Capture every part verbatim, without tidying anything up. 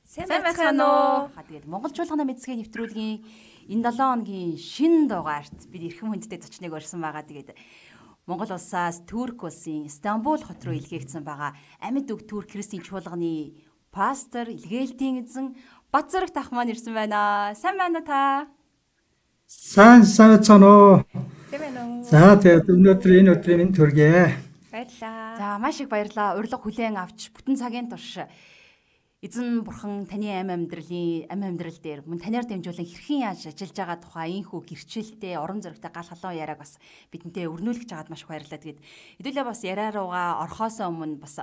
Сайн байцгаана уу? Ха тэгээд Монгол чуулганы мэдлэгийн нэвтрүүлгийн энэ долоон хоногийн шинэ дугаарт бид эрхэм хүндтэй зочныг орсон байгаа. Тэгээд Монгол улсаас Турк улсын Стамбул хот руу илгээгдсэн байгаа амьд үг Турк христийн чуулганы пастор илгээлтийн эзэн Бацрагт ах маань ирсэн байна. Сайн байна уу та? Сайн сайн цаано. Сайн байна уу? За тэгээд өнөөдөр энэ өдрийн минь төргий. Баярлалаа. За маш их баярлалаа. Урилга хүлээн авч бүтэн цагийн турш эзэн бурхан таны амь амьдралын амь амьдрал дээр мөн танаар дамжуулан хэрхэн яаж ажиллаж байгаа тухай энхүү гэрчлэлтэй орон зөрөгтэй гал халуун яриаг бас бидэнтэй өрнүүлж чагаад маш их баярлалаа. Тэгээд хэдүүлээ бас яриа руугаа орхоосоо өмнө бас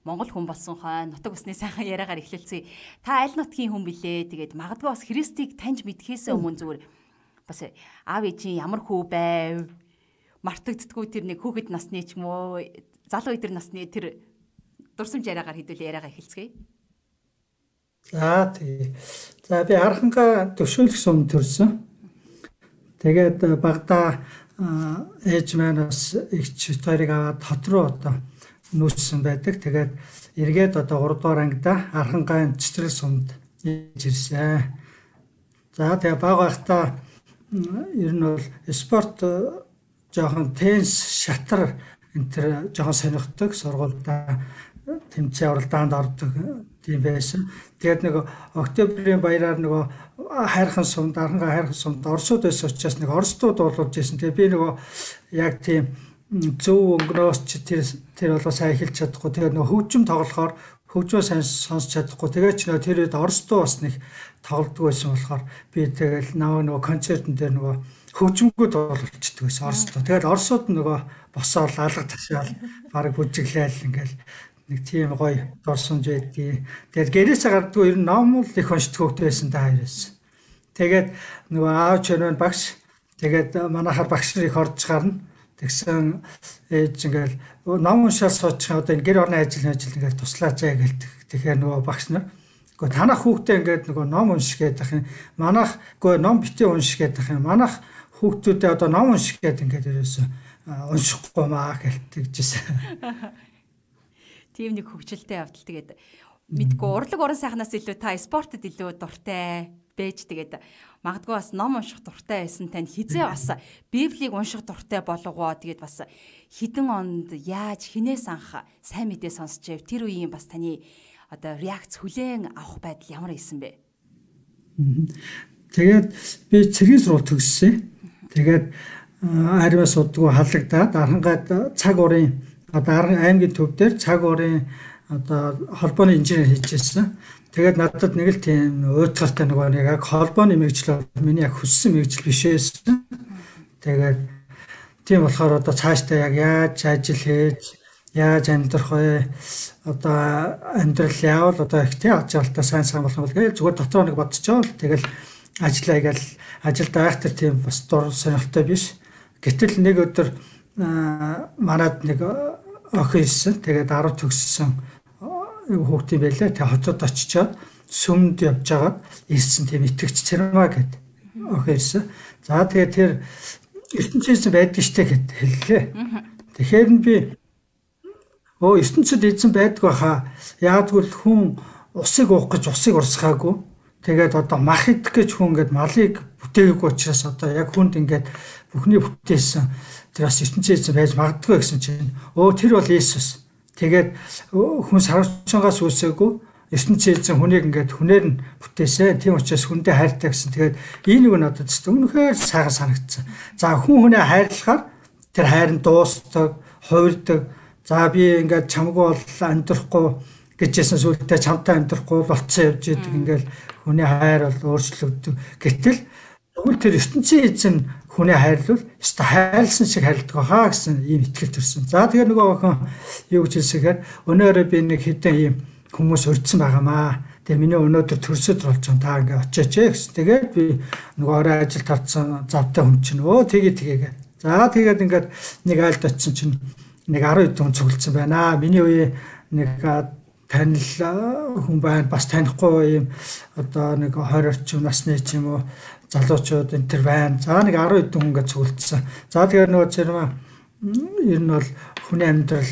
Монгол хүн болсон хойно нутаг усны сайхан яриагаар эхлэлцээ. Та аль нутгийн хүн билээ? Тэгээд магадгүй бас Христийг таньж мэдхээс өмнө зүгээр бас аав ээжийн ямар хүү байв? Мартагддаггүй тэр нэг хүүхэд насны ч юм уу залуу өдөр насны тэр дурсамж яриагаар хэдүүлээ яриагаа эхэлцгээе. За тий. За би Арханга төвшүүлэх сум төрсөн. Тэгээд багада ээж маань бас ихч хоёрыг аваад хот руу одоо нүүссэн байдаг. Тэгээд эргээд одоо гурав дугаар ангида Архангаын цэцрэл сумд ирсэн. За тэгээ баг байхдаа ер нь бол спорт жоохон теннис, шатар энэ төр жоохон сонирхдаг, сургуультай тэмцээн оролдоонд ордог тийм байсан. Тэгээд нэг октябрийн баяраар нөгөө хайрхан сумд, Арханга хайрхан сумд орсууд байсан учраас нэг орсдууд болуулж ирсэн. Тэгээд би нөгөө яг тийм зөв өнгнөөс ч тэр тэр болоо сайн эхэлж чадахгүй. Тэгээд нөгөө хөгжим тоглохоор хөгжмөө сайн сонсч чадахгүй. Тэгээд ч нөгөө тэр үед орсдуу бас нэг тоглодог байсан болохоор би тэгэл наваа нөгөө концертн дээр нөгөө хөгжмгүүд боловчдөг байсан орсдуу. Тэгээд орсууд нөгөө босоод алга ташаал баг бүжиглээл ингээл нэг тийм гоё дурсамж байдгийг. Тэгээд гэрээсээ гардгүй ер нь ном л их уншдаг хөвгтэй байсан та хоёроос. Тэгээд нөгөө аав чөнөө багш тэгээд манайхаар багш нар их орж гарна. Тэгсэн ээж ингээл ном уншаал суучих одоо энэ гэр орны ажил ажил ингээл туслаач аа гэлдэг. Тэгэхээр нөгөө багш нар үгүй танах хүүхдээ ингээд нөгөө ном унших гэдэг юм. Манайх үгүй ном битээ унших гэдэг юм. Манайх хүүхдүүдээ одоо ном унших гэдэг ингээд ерөөсөө уншихгүй маа гэлтэгжсэн. Тийм нэг хөвгчлөлтэй явдал. Тэгээд мэдгүй урлаг уран сайхнаас илүү та спортод илүү дуртай байж тэгээд магадгүй бас ном унших дуртай байсан тань хизээ бас Библийг унших дуртай болгоо. Тэгээд бас хідэн онд яаж хинээс анх сайн мэдээ сонсчээв тэр үеийн бас таны одоо реакц хүлээн авах байдал ямар исэн бэ? Тэгээд би цэргийн сургууль төгссөн. Тэгээд аримаас удгүй халагдаад Архангад цаг уурын одоо аймгийн төв дээр цаг уурын одоо холбооны инженер хийжсэн. Тэгээд надад нэг л тийм уйтгартай нөгөө нэг яг холбооны мэргэжил миний яг хүссэн мэргэжил биш байсан. Тэгээд тийм болохоор одоо цаашдаа яг яаж ажил хийж, яаж амьдрах вэ? Одоо амьдрал яавал одоо их тий ажиалтаа сайн сайн болох бол гээд зүгээр дотроо нэг бодчихвол тэгэл ажиллаа гээл ажилд байх тэр тийм бас дур сонирхолтой биш. Гэтэл нэг өдөр манад нэг охин ирсэн. Тэгээд арав төгссөн хүүхдийн байлаа. Тэгээд хотод очичоод сүмд явж байгаад ирсэн тийм итгэгч Цэрмаа гэдэг охин ирсэн. За тэгээд тэр ертөнцийн байдаг штэ гэд хэллээ. Тэгэхээр би өө ертөнцид эзэн байдаг баха. Яагтгүй хүн усыг уух гэж усыг урсгаагүй. Тэгээд одоо мах идэх гэж хүн ингээд малыг бүтээгээгүй учраас одоо яг хүнд ингээд бүхний бүтээсэн тэр бас ертөнцийн эзэн байж магадгүй гэсэн чинь өө тэр бол Иесус. Тэгээд хүн сарвчангаас үүсээгүй ертөнцийн эзэн хүнийг ингээд хүнээр нь бүтээсэн. Тийм учраас хүндээ хайртай гэсэн. Тэгээд энэ нэг нь надад үнэхээр сайхан санагдсан. За хүн хүнээ хайрлахаар тэр хайр нь дуустдаг, хувирдаг. За би ингээд чамгүй бол амьдрахгүй гэжсэн сүлдээ чамтай амьдрахгүй болцсон явж идэг ингээд хүний хайр бол өөрчлөгддөг. Гэтэл тэгвэл тэр ертөнцийн эзэн хүнээ хайрлвал өстө хайрлсан шиг хайрладаг хаа гэсэн ийм итгэл төрсөн. За тэгэхээр нөгөө охин юу гэж хэлсэхээр өнөөрөө би нэг хэдэн ийм хүмүүс урьдсан байгаамаа. Тэгээ миний өнөөдөр төрсөд болж байгаа та ингээ очооч ээ гэсэн. Тэгээд би нөгөө орой ажил тавцсан завтай хүн чинь өө тгий тгийгээ. За тэгээд ингээд нэг айлд очисон чинь нэг арав хэдэн хүн цуглдсан байна. Миний үе нэг танил хүн байна. Бас танихгүй ийм одоо нэг двадцать орчим насны ч юм уу залуучууд энэ төр байна. За нэг арав хэдэн хүн ингээд цуглдсан. За тэгэхээр нөгөө Цэрмаа ер нь бол хүний амьдрал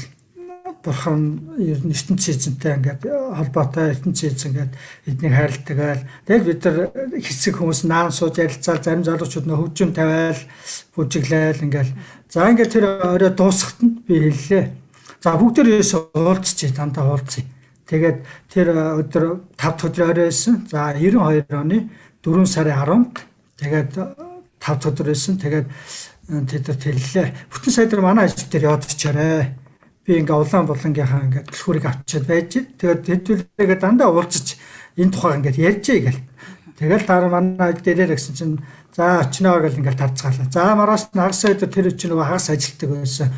бурхан ер нь ертөнцийн эзэнтэй ингээд холбоотой ертөнцийн эзэн ингээд эднийг хайрладаг айл. Тэгэл бид нар хэсэг хүмүүс наан сууж ярилцаал зарим залуучууд нөө хөгжим тавиал бүжиглээл ингээд за ингээд тэр орой дуусахад нь би хэллээ. За бүгд ерөөсөө уулзчих дандаа уулзъя. Тэгээд тэр өдөр тав дахь өдөр орой байсан. За девяносто хоёр оны дөрвөн сарын арванд тэгээд тав дахь өдөр байсан. Тэгээд тэд хэллээ. Бүтэн сайдар манай ажил дээр яваад очиорой. Би ингээ улаан булангийнхаа ингээ түлхүүрийг авчиад байж. Тэгээд хэдүүлээгээ дандаа уулзаж энэ тухай ингээ ярьжээ гэл. Тэгэл дараа манай дээрээ гэсэн чинь за очноо гэл ингээ тарцгаалаа. За мараас нагас өдөр тэр чинь нөгөө хагас ажилтдаг байсан.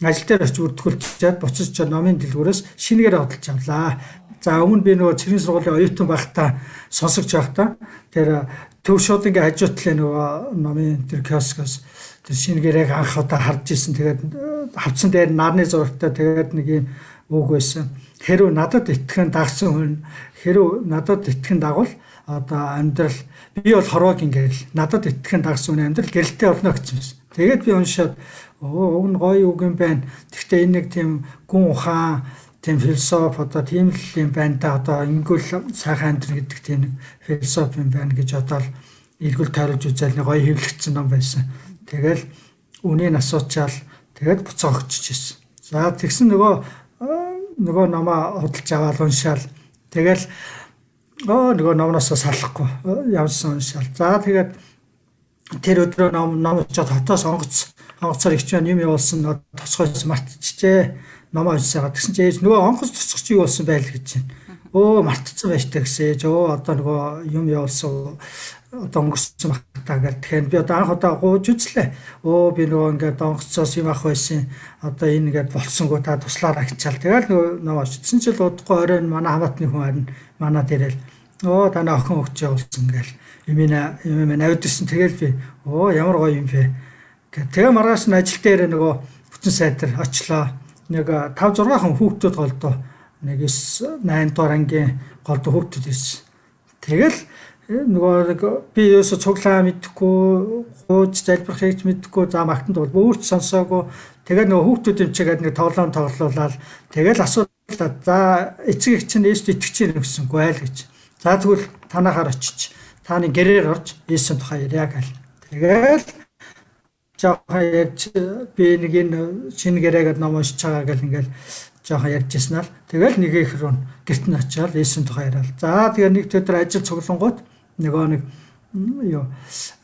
Ажил дээр очиж үрдгүүлчихэд буцаж ч номын дэлгүүрээс шинэгээр хөдөлж авлаа. За өмнө би нөгөө цэргийн сургуулийн оюутан байхдаа сонсогч байхдаа тэр төв шууд ингээ хажуутлаа нөгөө номын тэр киоскоос тэр шинэгээр анх удаа харж ирсэн. Тэгээд хавцсан дээр нарны зурагтай тэгээд нэг юм үг байсан. Хэрв надад итгэн дагсан хүн хэрв надад итгэн дагвал одоо амьдрал би бол хорвог ингээл надад итгэн дагсан хүн амьдрал гэрэлтэй болно гэсэн юм. Тэгээд би уншаад оо энэ гоё үг юм байна. Гэхдээ энэ нэг тийм гүн ухаан тийм философи одоо тийм л юм байна да одоо ингэвэл сайхан амьдрал гэдэг тийм нэг философи юм байна гэж одоо эргүүл тойрож үзэл нэг гоё хэвлэгдсэн ном байсан. Тэгэл үнийг асуучаал тэгээд буцаа өгчөж ирсэн. За тэгсэн нөгөө нөгөө номоо худалж аваад уншаал. Тэгэл оо нөгөө номноосоо салахгүй явсан уншаал. За тэгээд тэр өдрөө ном ном очоод хотоос онгоц онгоцоор ичвэн юм явуулсан тосгоос мартчихжээ. Номоо уншсаага тэгсэн чинь ээж нөгөө онгоц тосгоч юу болсон байл гэж байна. Өө мартцсан байж тагсээж өө одоо нөгөө юм явуулсан одоо өнгөрсөн багтаа гэл тэгэхээр би одоо анх удаа гууж үзлээ. Өө би нөгөө ингээд онгоцоос юм ах байсан. Одоо энэ ингээд болсонгүй та туслаараа хичаал. Тэгэл нөгөө нөө очсон ч л удахгүй оройн манай хамаатны хүн харин манай дээрэл өө танаа охин өгч явуулсан гэл юмина юм навдсан. Тэгэл би өө ямар гоё юм бэ. Тэгээ маргааш нь ажил дээр нөгөө бүтэн сайдар очлоо. Нэг тав зургаан хүн хүүхдүүд голдоо. Нэг найн дугаар ангийн голдоо хүүхдүүд ирсэн. Тэгэл нөгөө би ерөөсө цуглаа мэдхгүй гууж залбирах хийж мэдхгүй за магтанд бол өөрч сонсоогүй тэгээд нөгөө хүүхдүүд юм чигээд нэг тоглоом тоглоулаад тэгэл асуудал за эцэг эх чинь Есүст итгэж чинь гэсэнгүй айл гэж за тэгвэл танахаар очиж тааны гэрээр орж Есүсийн тухай яриа гал тэгэл жоохон ярьж би нэг энэ шинэ гэрээгээд ном уншиж байгаа гэл ингээл жоохон ярьжсэн аа тэгэл нэг их рүү гэрт нь очиад Есүсийн тухай яриад за тэгээ нэг өдөр ажил цуглангууд нөгөө нэг юу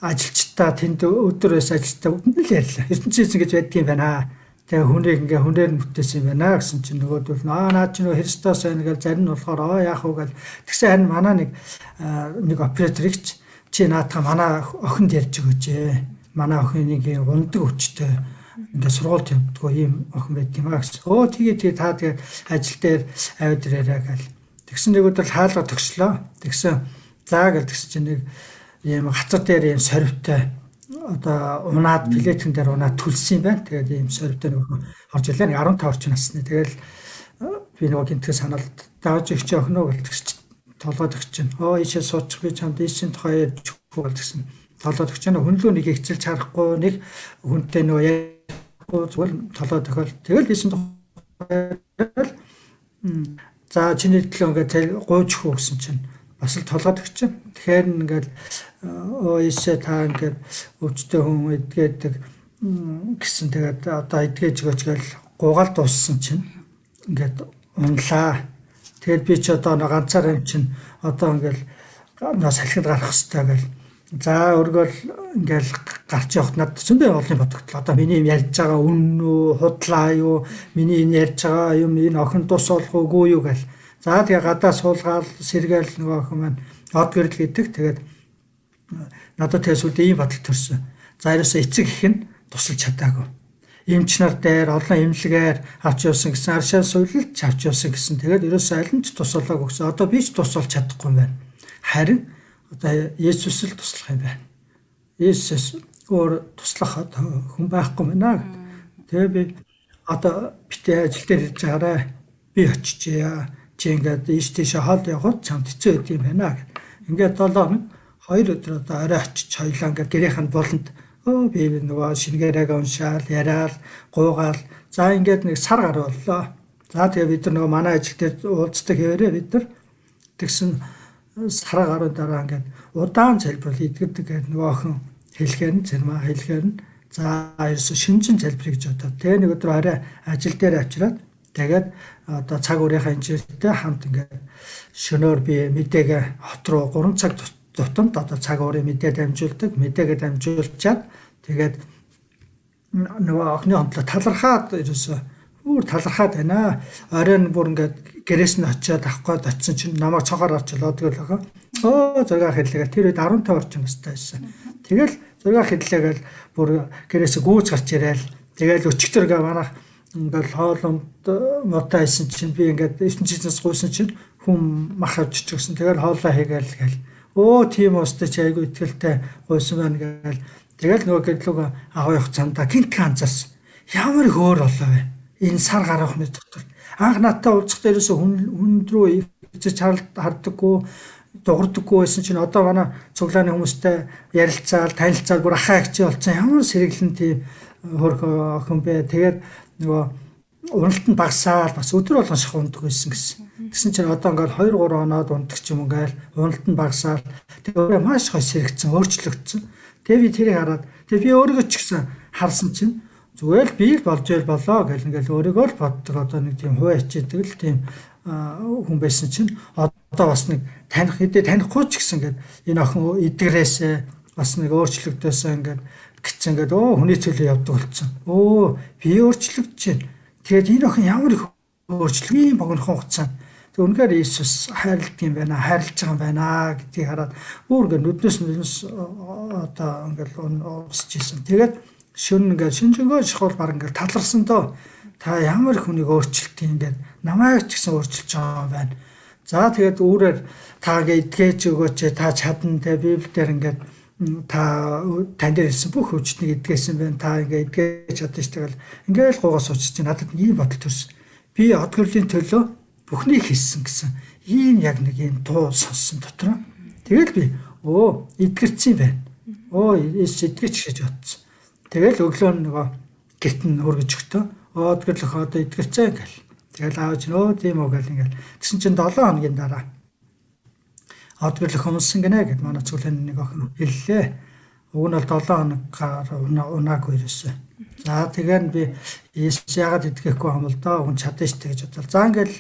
ажилчдаа тэнд өдрөөс ажилчдаа бүгд л ярьлаа. ертөнцийн эзэн гэж байдгийн байна. Тэгээ хүнийг ингээ хүнээр нь бүтээсэн юм байна гэсэн чинь нөгөөдөл аа наад чинь Христос байна гэж зарим нь болохоор оо яах вэ гэл тэгсэн харин манай нэг нэг операторч чи наатаа манай охинд ярьж өгөөч. Манай охин нэг ундаг өчтэй ингээ сургуульд явдггүй ийм охин байт юм аа гэсэн. Оо тэгээ тэгээ та тэгээ ажил дээр авид ирээрээ гэл. Тэгсэн нэг өдөр хаалга төгслөө. Тэгсэн заа гэл тэгсэн чинь нэг ийм хацар дээр ийм сорвтой одоо унаад плетэн дээр унаад түлсэн юм байна. Тэгээд ийм сорвтой нэг орж ирлээ. нэг арван тавь орчим насны. Тэгэл би нөгөө гинтгээ санаад дааж их ч охиноо гэл тэгс толгойд өгч чинь. Оо ийшээ суучих би чамд ийшийн тухай ярьж өгөх гэсэн. Толгойд өгч чинь хүнлөө нэг ихцэлж харахгүй нэг хүнтэй нөгөө ярихгүй зүгээр толгойд өгөөл. Тэгэл ийшийн тухай за чиний төлөө ингээд гуйж хөө гэсэн чинь бас л толгойд өгч. Тэгэхээр ингээд оо ийшээ та ингээд өвчтөе хүн эдгээдэг гэсэн тэгээд одоо эдгээж өгөөч гэл гугаал дууссан чинь ингээд унлаа. Тэгээд би ч одоо нэг ганцаар юм чинь одоо ингээд нөө салхинд гарах хэрэгтэй гэл. За өргөөл ингээд гарч явахт надад зөндөө олон бодогдлоо. Одоо миний юм ярьж байгаа үн үү, худлаа юу, миний энэ ярьж байгаа юм энэ охин тус болох уугүй юу гэл. За тэгээ гадаа суулгаал сэргээл нөгөө охин маань од гэрэл гэдэг. Тэгээд надад тэгээс үл ийм бодол төрсөн. За ерөөсөө эцэг их нь тусалж чадаагүй. Эмч нар дээр олон эмнэлгээр авч явсан гэсэн аршаа суйлалж авч явсан гэсэн. Тэгээд ерөөсөө аль нь ч тусалаагүй гэсэн. Одоо би ч тусалж чадахгүй юм байна. Харин одоо Есүс л туслах юм байна. Есүс өөр туслах хүн байхгүй мэнэ. Тэгээ би одоо битээ ажил дээр ирж байгаарай. Би очижээ. Чи ингээд ийш тийш хаалт явахад чамд хэцүү байд юм байна гэх. Ингээд долоо хоног хоёр өдөр одоо орой очиж хоёлаа ингээд гэрийнхэн болонд өө би нөгөө шингээрээ уншаал, яриал, гуугаал. За ингээд нэг сар гар боллоо. За тэгээ бид нар нөгөө манай ажил дээр уулздаг хэвээрээ бид нар тэгсэн сараа гаруй дараа ингээд удаан залбирал идэгдэг гэдэг нөгөө охин хэлгээр нь зэрмаа хэлгээр нь за ерөөсө шинжин залбирыг гэж бодоод тэгээ нэг өдөр арай ажил дээр авчираад тэгээд одоо цаг уурынхаа инженертэй хамт ингээд шөнөөр би мэдээгээ хот руу гурван цаг тутамд одоо цаг уурын мэдээ дамжуулдаг мэдээгээ дамжуулчаад тэгээд нөгөө охины хондлоо талархаад ерөөсө өөр талархаад байна. Оройн бүр ингээд гэрээс нь очиод авах гээд очисон чинь намайг цогоор орж лоодог л байгаа. Оо зураг хэллээгээл тэр үед арван тавь орчим настай байсан. Тэгэл зураг хэллээгээл бүр гэрээс гүйж гарч ирээл. Тэгэл өчигдөргээ манайх ингээд хооломд мотой байсан чинь би ингээд ертөнц жизнээс гуйсан чинь хүн мах авчиж өгсөн. Тэгэл хоолоо хийгээл гээл. Оо тийм уустай чи айгу итгэлтэй гуйсан байна гээл. Тэгэл нөгөө гэрлүүг аваа явах цаанда гинт ганцаас ямар хөөр олоо вэ? Энэ сар гарахны дотор анх надтай уулзах дээрээс хүн хүнд рүү ичиж харддаггүй дуурдаггүй байсан чинь одоо манай цуглааны хүмүүстэй ярилцаал танилцаал бүр ахаа хичээ болсон ямар сэргэлэн тийм хөрх охин бэ. Тэгээд нөгөө уралт нь багасаал бас өдөр болгон шах ундаг байсан гэсэн. Тэгсэн чинь одоо ингээл хоёр гурван оноод ундаг ч юм ингээл уралт нь багасаал тэгээд маш гой сэрэгцэн өөрчлөгдсөн. Тэгээд би тэрийг хараад тэгээд би өөрийгөө ч гэсэн харсан чинь зүгээр л би л болж байл болоо гэл ингээл өөрийгөө л боддог одоо нэг тийм хуваа хичээдэг л тийм хүн байсан чинь одоо бас нэг таних хэдий танихгүй ч гэсэн ингээд энэ охин эдгэрээсээ бас нэг өөрчлөгдөөсөө ингээд гिचсэн ингээд өө хүний төлөө явдаг болсон. Өө би өөрчлөгдөж байна. Тэгээд энэ охин ямар их өөрчлөг юм богинохон хугацаанд тэг үнэхээр Иесус хайрладаг юм байна, хайрлаж байгаа юм байна гэдгийг хараад бүр ингээд нүднээс нүднээс одоо ингээд уусч ийсэн. Тэгээд шүн ингээд шинжэнгөө шахал баг ингээд таларсан доо та ямар их хүнийг өөрчилт юм ингээд намайг ч гэсэн өөрчилж байгаа юм байна. За тэгээд үүрээр таагээ идгээж өгөөч та чадна те Библиэлд ингээд та тань дээр хэлсэн бүх хүчнийг идгээсэн байна. Та ингээд идгээж чадна ш тэгэл ингээд л гуугаас уучиж чинь надад ийм бодол төрсөн. Би од гэрлийн төлөө бүхнийг хийсэн гэсэн ийм яг нэг юм дуу сонссон дотроо. Тэгэл би өө идгэрсэн байна. Оо эс идгэж гэж бодсон. Тэгэл өглөө нөгөө гэрт нь хөргөж өгтөө. Од гэрлэх одоо идгэрцээ гэл. Тэгэл аавч нөө тийм үү гэл ингээл. Тэгсэн чинь долоон хоногийн дараа од гэрлэх өмсөн гинэ гэд манай цуглааны нэг охин хэллээ. Уг нь бол долоон хоноггаар унаагүй ерөөсөө. За тэгээд би Иесус яагаад идгэхгүй юм бол доо хүн чадна штэ гэж бодлоо. За ингээл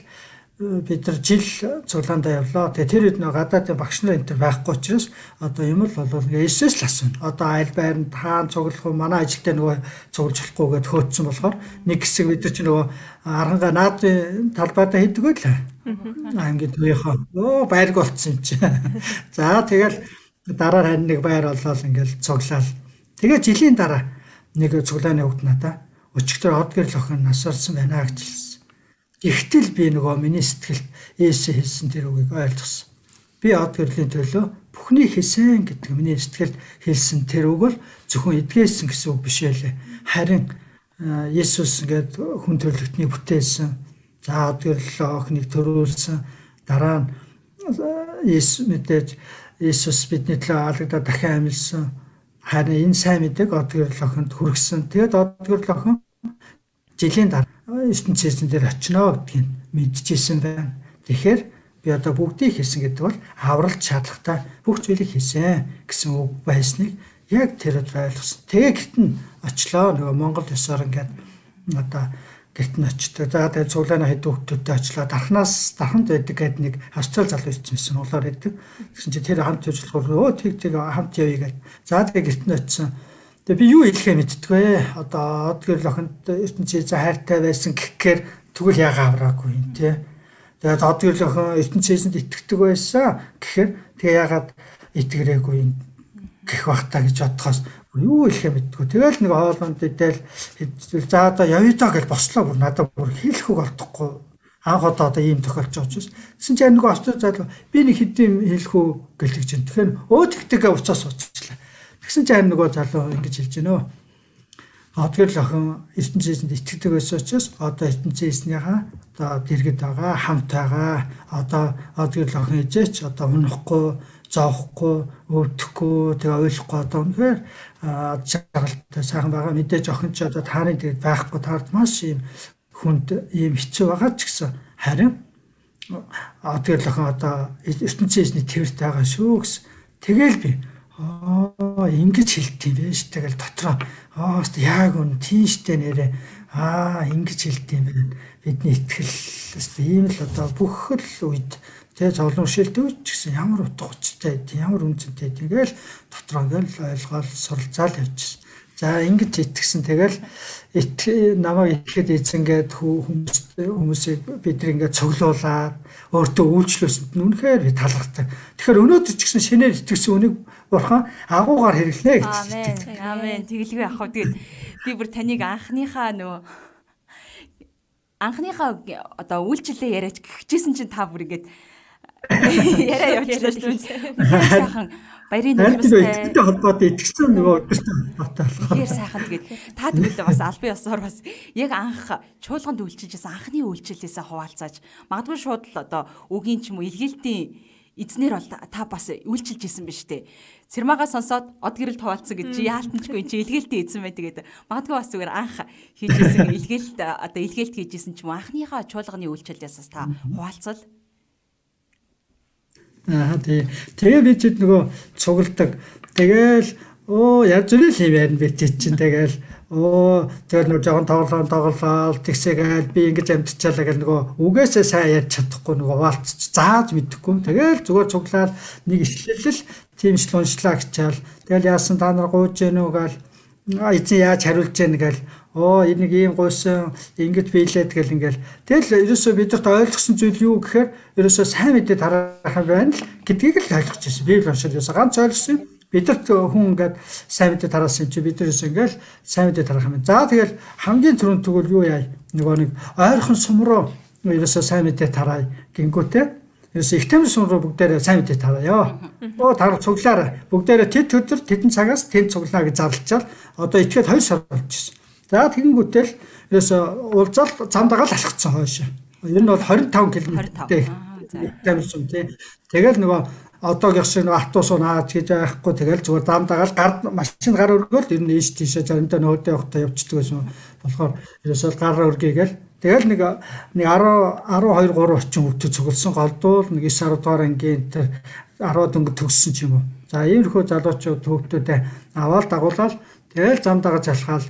бид нар жил цуглаандаа явлаа. Тэгээ тэр үед нэг гадаадын багш нар энэ төр байхгүй учраас одоо юм л бол Иесус л асууна. Одоо аль байранд хаан цуглах уу манай ажилтаа нөгөө цуглаж болохгүй гэд хөөцсөн болохоор нэг хэсэг бид нар чи нөгөө аранга наадын талбайдаа хийдэг байл. Ангид үеийнхөө оо байрг болцсон юм чи. За тэгэл дараа харин нэг байр болоод ингээл цуглаал. Тэгээ жилийн дараа нэг цуглааны хөвгт надаа өчигдөр од гэрэл охин насварсан байна гэж хэлсэн. Ихтэл би нөгөө миний сэтгэлд Иесус хэлсэн тэр үгийг ойлгосон. Би од гэрлийн төлөө бүхний хийсэн гэдэг миний сэтгэлд хэлсэн тэр үг бол зөвхөн эдгээсэн гэсэн үг биш ээ. Харин Иесус ингээд хүн төрлөختний бүтээсэн. За од гэрэл охиныг төрүүлсэн. Дараа нь Иесус мэдээж Иесус бидний төлөө алагдаад дахин амьдсан. Харин энэ сайн мэдээг од гэрэл охинд хүргэсэн. Тэгээд од гэрэл охин жилийн дараа ертөнцийн дээр очино гэдгийг мэдчихсэн байна. Тэгэхээр би одоо бүгдийг хийсэн гэдэг бол авралт шаардлагатай бүх зүйлийг хийсэн гэсэн үг байсныг яг тэр өдөр ойлгосон. Тэгээ гэрт нь очлоо нөгөө Монгол ёсоор ингээд одоо гэрт нь очдог. За тэгээ цуглааны хэд хүүхдүүдтэй очлоо. Дархнаас дарханд байдаг гэдэг нэг австрал залуу ирсэн улаар байдаг. Тэгсэн чинь тэр хамт ажиллах өө тэг тэг хамт явъя гэдэг. За тэгээ гэрт нь очсон. Тэгээ би юу хэлэхээ мэдтгүй. Одоо од гэрэл охинд ертөнцийн хайртай байсан гэхээр тэгвэл яага авраагүй юм тий. Тэгээд од гэрэл охин ертөнцийнэд итгэдэг байсан гэхээр тэгээ яагаад итгэрээгүй юм гэх бахтаа гэж бодохоос юу хэлэхээ мэдтгүй. Тэгэл нэг хоолонд идэл за одоо явъя даа гэж бослоо бүр надад бүр хэлэх үг олдохгүй. Анх одоо одоо ийм тохиолж байгаа учраас. Тэгсэн чинь нэг австрал залуу би нэг хэдийн хэлэх үг гэлж чинь. Тэгэхээр өө тэгтэйгээ уцаас уучлаа. Тэгсэн чинь нөгөө залуу ингэж хэлж гинөө. Од гэрэл охин ертөнцийнэд итгэдэг байсан учраас одоо ертөнцийнхаа одоо дэргэд байгаа, хамт байгаа. Одоо од гэрэл охин ижээч одоо унахгүй, зоохгүй, өвдөхгүй, тэгээ ойлгохгүй одоо үнэхээр жаргалтай сайхан байгаа. Мэдээж охин ч одоо таарын дэргэд байхгүй таард маш юм хүнд ийм хэцүү байгаа ч гэсэн харин тэгэл охин одоо ертөнцийн эзний тэрт байгаа шүү гэсэн. Тэгэл би аа ингэж хэлт юм биш. Тэгэл дотроо аа яг үн тийштэй нэрээ аа ингэж хэлт юм байна. Бидний итгэл ийм л одоо бүх л үед тэгээ зовлон шилдэг ч гэсэн ямар утга учиртай ямар үнцэнтэй тэгэл дотроо ингээл ойлгоол суралцаал явчихсан. За ингэж итгэсэн тэгэл намайг итгэхэд эзэнгээд хүмүүс хүмүүсийг бидний ингээд цуглуулад өөртөө үйлчлүүлсэнд нь үнэхээр би талархдаг. Тэгэхээр өнөөдөр ч гэсэн шинээр итгэсэн үнийг бурхан агуугаар хэрэглэнэ гэж. Амен. Амен. Тэгэлгүй ах. Тэгээд би бүр таныг анхныхаа нөгөө анхныхаа одоо үйлчлэлээ яриач гихжсэн чинь та бүр ингээд яриа явуулчихлаа шүү дээ. Сайхан баярын нөхөстэй холбоотой итгэсэн нөгөө өдөртэй холбоотой болох. Тэгэхээр сайхан тэгээд та тэгвэл бас албан ёсоор бас яг анх чуулганд үйлчилжсэн анхны үйлчлэлээсээ хуваалцааж магадгүй шууд л одоо үгийн ч юм уу илгээлтийн эзнэр бол та бас үйлчилж исэн биз дээ. Цэрмагаа сонсоод од гэрэл хуваалцсан гэж чи яалтанчгүй чи илгээлтийн эзэн бай тэгээд магадгүй бас зүгээр анх хийжсэн илгээлт одоо илгээлт хийжсэн ч юм уу анхныхаа чуулганы үйлчлэлээс та хуваалцал. Аа тий. Тэгээ би ч нөгөө цугладаг. Тэгээл оо яаж зүйл юм байна би чинь тэгээл оо тэгэл нөгөө жоохон тоглоом тоглоол тэгсээгээл би ингэж амтчихлаа гэл нөгөө үгээсээ сайн ярьж чадахгүй нөгөө хуваалцч зааж мэдэхгүй. Тэгээл зүгээр цуглаад нэг ишлэлэл тийм ч уншлаа гэчаал. Тэгэл яасан та нар гууж гэнэ үү гэл эзэн яаж хариулж гэнэ гэл оо энийг ийм гуйсан ингэж биелээд гэл ингээл тэгэл ерөөсөө бидэрт ойлгосон зүйл юу гэхээр ерөөсөө сайн мэдээ тараах юм байна л гэдгийг л ойлгож ирсэн. Библи уншаад ерөөсөө ганц ойлгосон бидэрт хүн ингээд сайн мэдээ тараасан чи бид ерөөсөө ингээл сайн мэдээ тараах юм. За тэгэл хамгийн түрүүнд тэгвэл юу яа нөгөө нэг ойрхон сум руу ерөөсөө сайн мэдээ тараа гингүүтэй ерөөсөө их тамир сум руу бүгдээрээ сайн мэдээ тараа. Оо тар цуглаараа бүгдээрээ тэд өдөр тэдэн цагаас тэнд цуглаа гэж зарлчаал одоо ичгээд хоёр сар болж ирсэн. За тэгэнгүүтэл ерөөсөө уулзал замдагаал алхацсан хойш. Ер нь бол двадцать пять км-тэй тамирсан тий. Тэгэл нөгөө одоогийн шиг нөгөө автобус наач гэж байхгүй тэгэл зүгээр замдагаал гар машин гар өргөөл ер нь ийш тийшээ заримдаа нөөдөө явахдаа явчихдаг байсан. Болохоор ерөөсөө гар өргөгээл тэгэл нэг нэг twelve three очин хөвгөд цугласан голдуул нэг nine ten дугаар ангийн тэр ten дөнгөж төгссөн ч юм уу. За иймэрхүү залуучууд хөвгтүүдэд аваад дагуулаад тэгэл замдагаж алхаал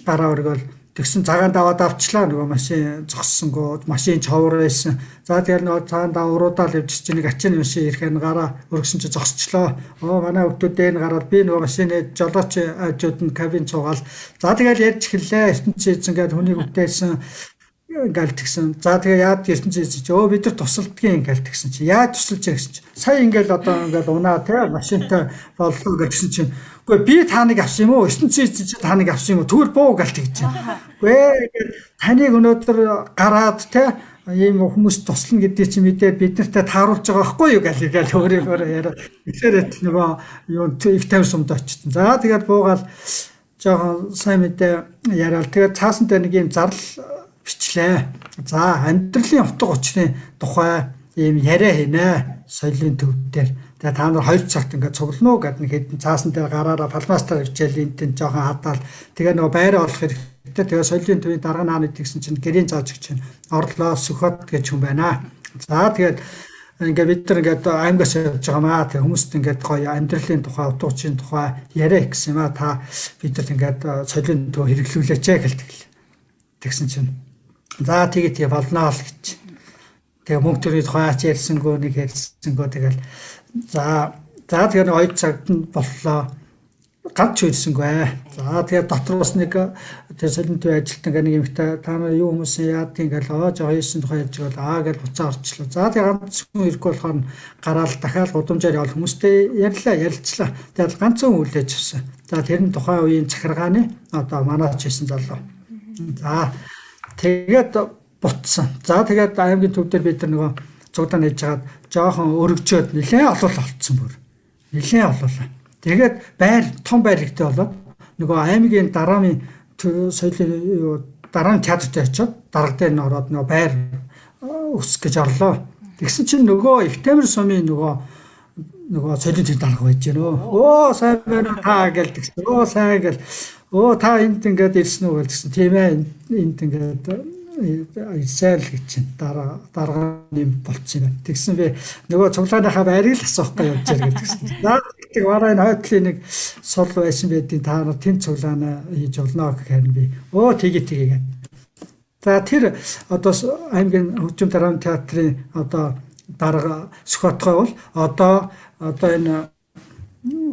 гараа өргөөл тэгсэн цагаан даваад авчлаа нөгөө машин зогссонгоо машин човор байсан. За тэгэл нөгөө цагаан дав уруудаал явж чинь нэг ачааны машин ирэхээр гараа өргөсөн чи зогсчлоо. Оо манай хөвгтүүдээ гараад би нөгөө машины жолооч ажууд нь кабин цугаал. За тэгэл ярьж эхэллээ. ертөнцийн эзэн гээд хүнийг үтээсэн ингээл тэгсэн. За тэгээ яад ертөнцийн эзэн чи өө бид нар тусалдгийн ингээл тэгсэн чи яаж тусалж яа гэсэн чи сая ингээл одоо ингээл унаа те машинтай боллоо гэсэн чинь үгүй би таныг авсан юм уу ертөнцийн эзэн чи таныг авсан юм уу тэгвэл буу галт гэж байна. Үгүй таныг өнөөдөр гараад те ийм хүмүүс туслана гэдэг чи мэдээд бид нартай тааруулж байгаа байхгүй юу гэл ингээл өөрөөр яриа. Тэгэхээр нөгөө юу их тавь сумд очсон. За тэгээд буугаал жоохон сайн мэдээ яриад тэгээд цаасантай нэг юм зарлал бичлээ. За амьдралын утга учирын тухай ийм яриа хийнэ соёлын төв дээр. Тэгээ та нар хоёр цагт ингээд цуглана уу гэдэг нэг хэдэн цаасан дээр гараараа палмастер хичээл энтэн жоохон хадаал тэгээ нөгөө байраа олох хэрэгтэй. Тэгээ соёлын төвийн дарга нааны тэгсэн чинь гэрийн зааж гэж чинь орлоо сөхөт гэж хүн байна. За тэгээд ингээд бид нар ингээд аймгаас явж байгаа маа тэг хүмүүст ингээд гоё амьдралын тухай утга учирын тухай яриа гэсэн юм а та бидэрт ингээд соёлын төв хэрэглүүлээч гэлдэг. Тэгсэн чинь за тэгээд тий болноо л гэж. Тэгээ мөнгө төрийн тухай ач ярьсангүй нэг ярьсангүй тэгэл за за тэгээд хоёр цагт нь боллоо. Ганц үйлсэнгүй. За тэгээд дотроос нэг тэр солин төв ажилтнаа нэг юмтай та нар юу хүмүүс яад ингээл оо жоо хийсэн тухай ярьж бол аа гэж буцаа орчлоо. За тэгээд ганц хүн ирэхгүй болохоор гараал дахиад гудамжаар явал хүмүүстэй ярьлаа ярилцлаа. Тэгээд ганцхан үлээж авсан. За тэр нь тухайн үеийн захиргааны одоо манаач хийсэн залуу. За тэгээд бутсан. За тэгээд аймгийн төв дээр бид нар нөгөө цуглаа нээж хагаад жоохон өргөжөөд нэлээд олол олцсон бүр. Нэлээд олоо. Тэгээд байр том байр ихтэй болоод нөгөө аймгийн дараамын соёлын дараамын театрт очиод дарга дээр нь ороод нөгөө байр өсөх гэж орлоо. Тэгсэн чинь нөгөө их тамир сумын нөгөө нөгөө соёлын төв дарга байж гэнэ. Оо сайн байна та гэл тэгсэн. Оо сайн гэл. Оо та энд ингээд ирсэн үү гэсэн тийм ээ энд ингээд Израиль гэж чинь дараа дараа юм болцсон юм. Тэгсэн би нөгөө цуглааныхаа байрыг л асуухгүй явж байгаа гэсэн. Наад тэг бараа энэ хойтлын нэг сул байсан байдгийг та нар тэнд цуглаана хийж болно гэхээр би өө тгий тгий гэдэг. За тэр одоо аймгийн хөгжим дарааны театрын одоо дарга Сүхбатгай бол одоо одоо энэ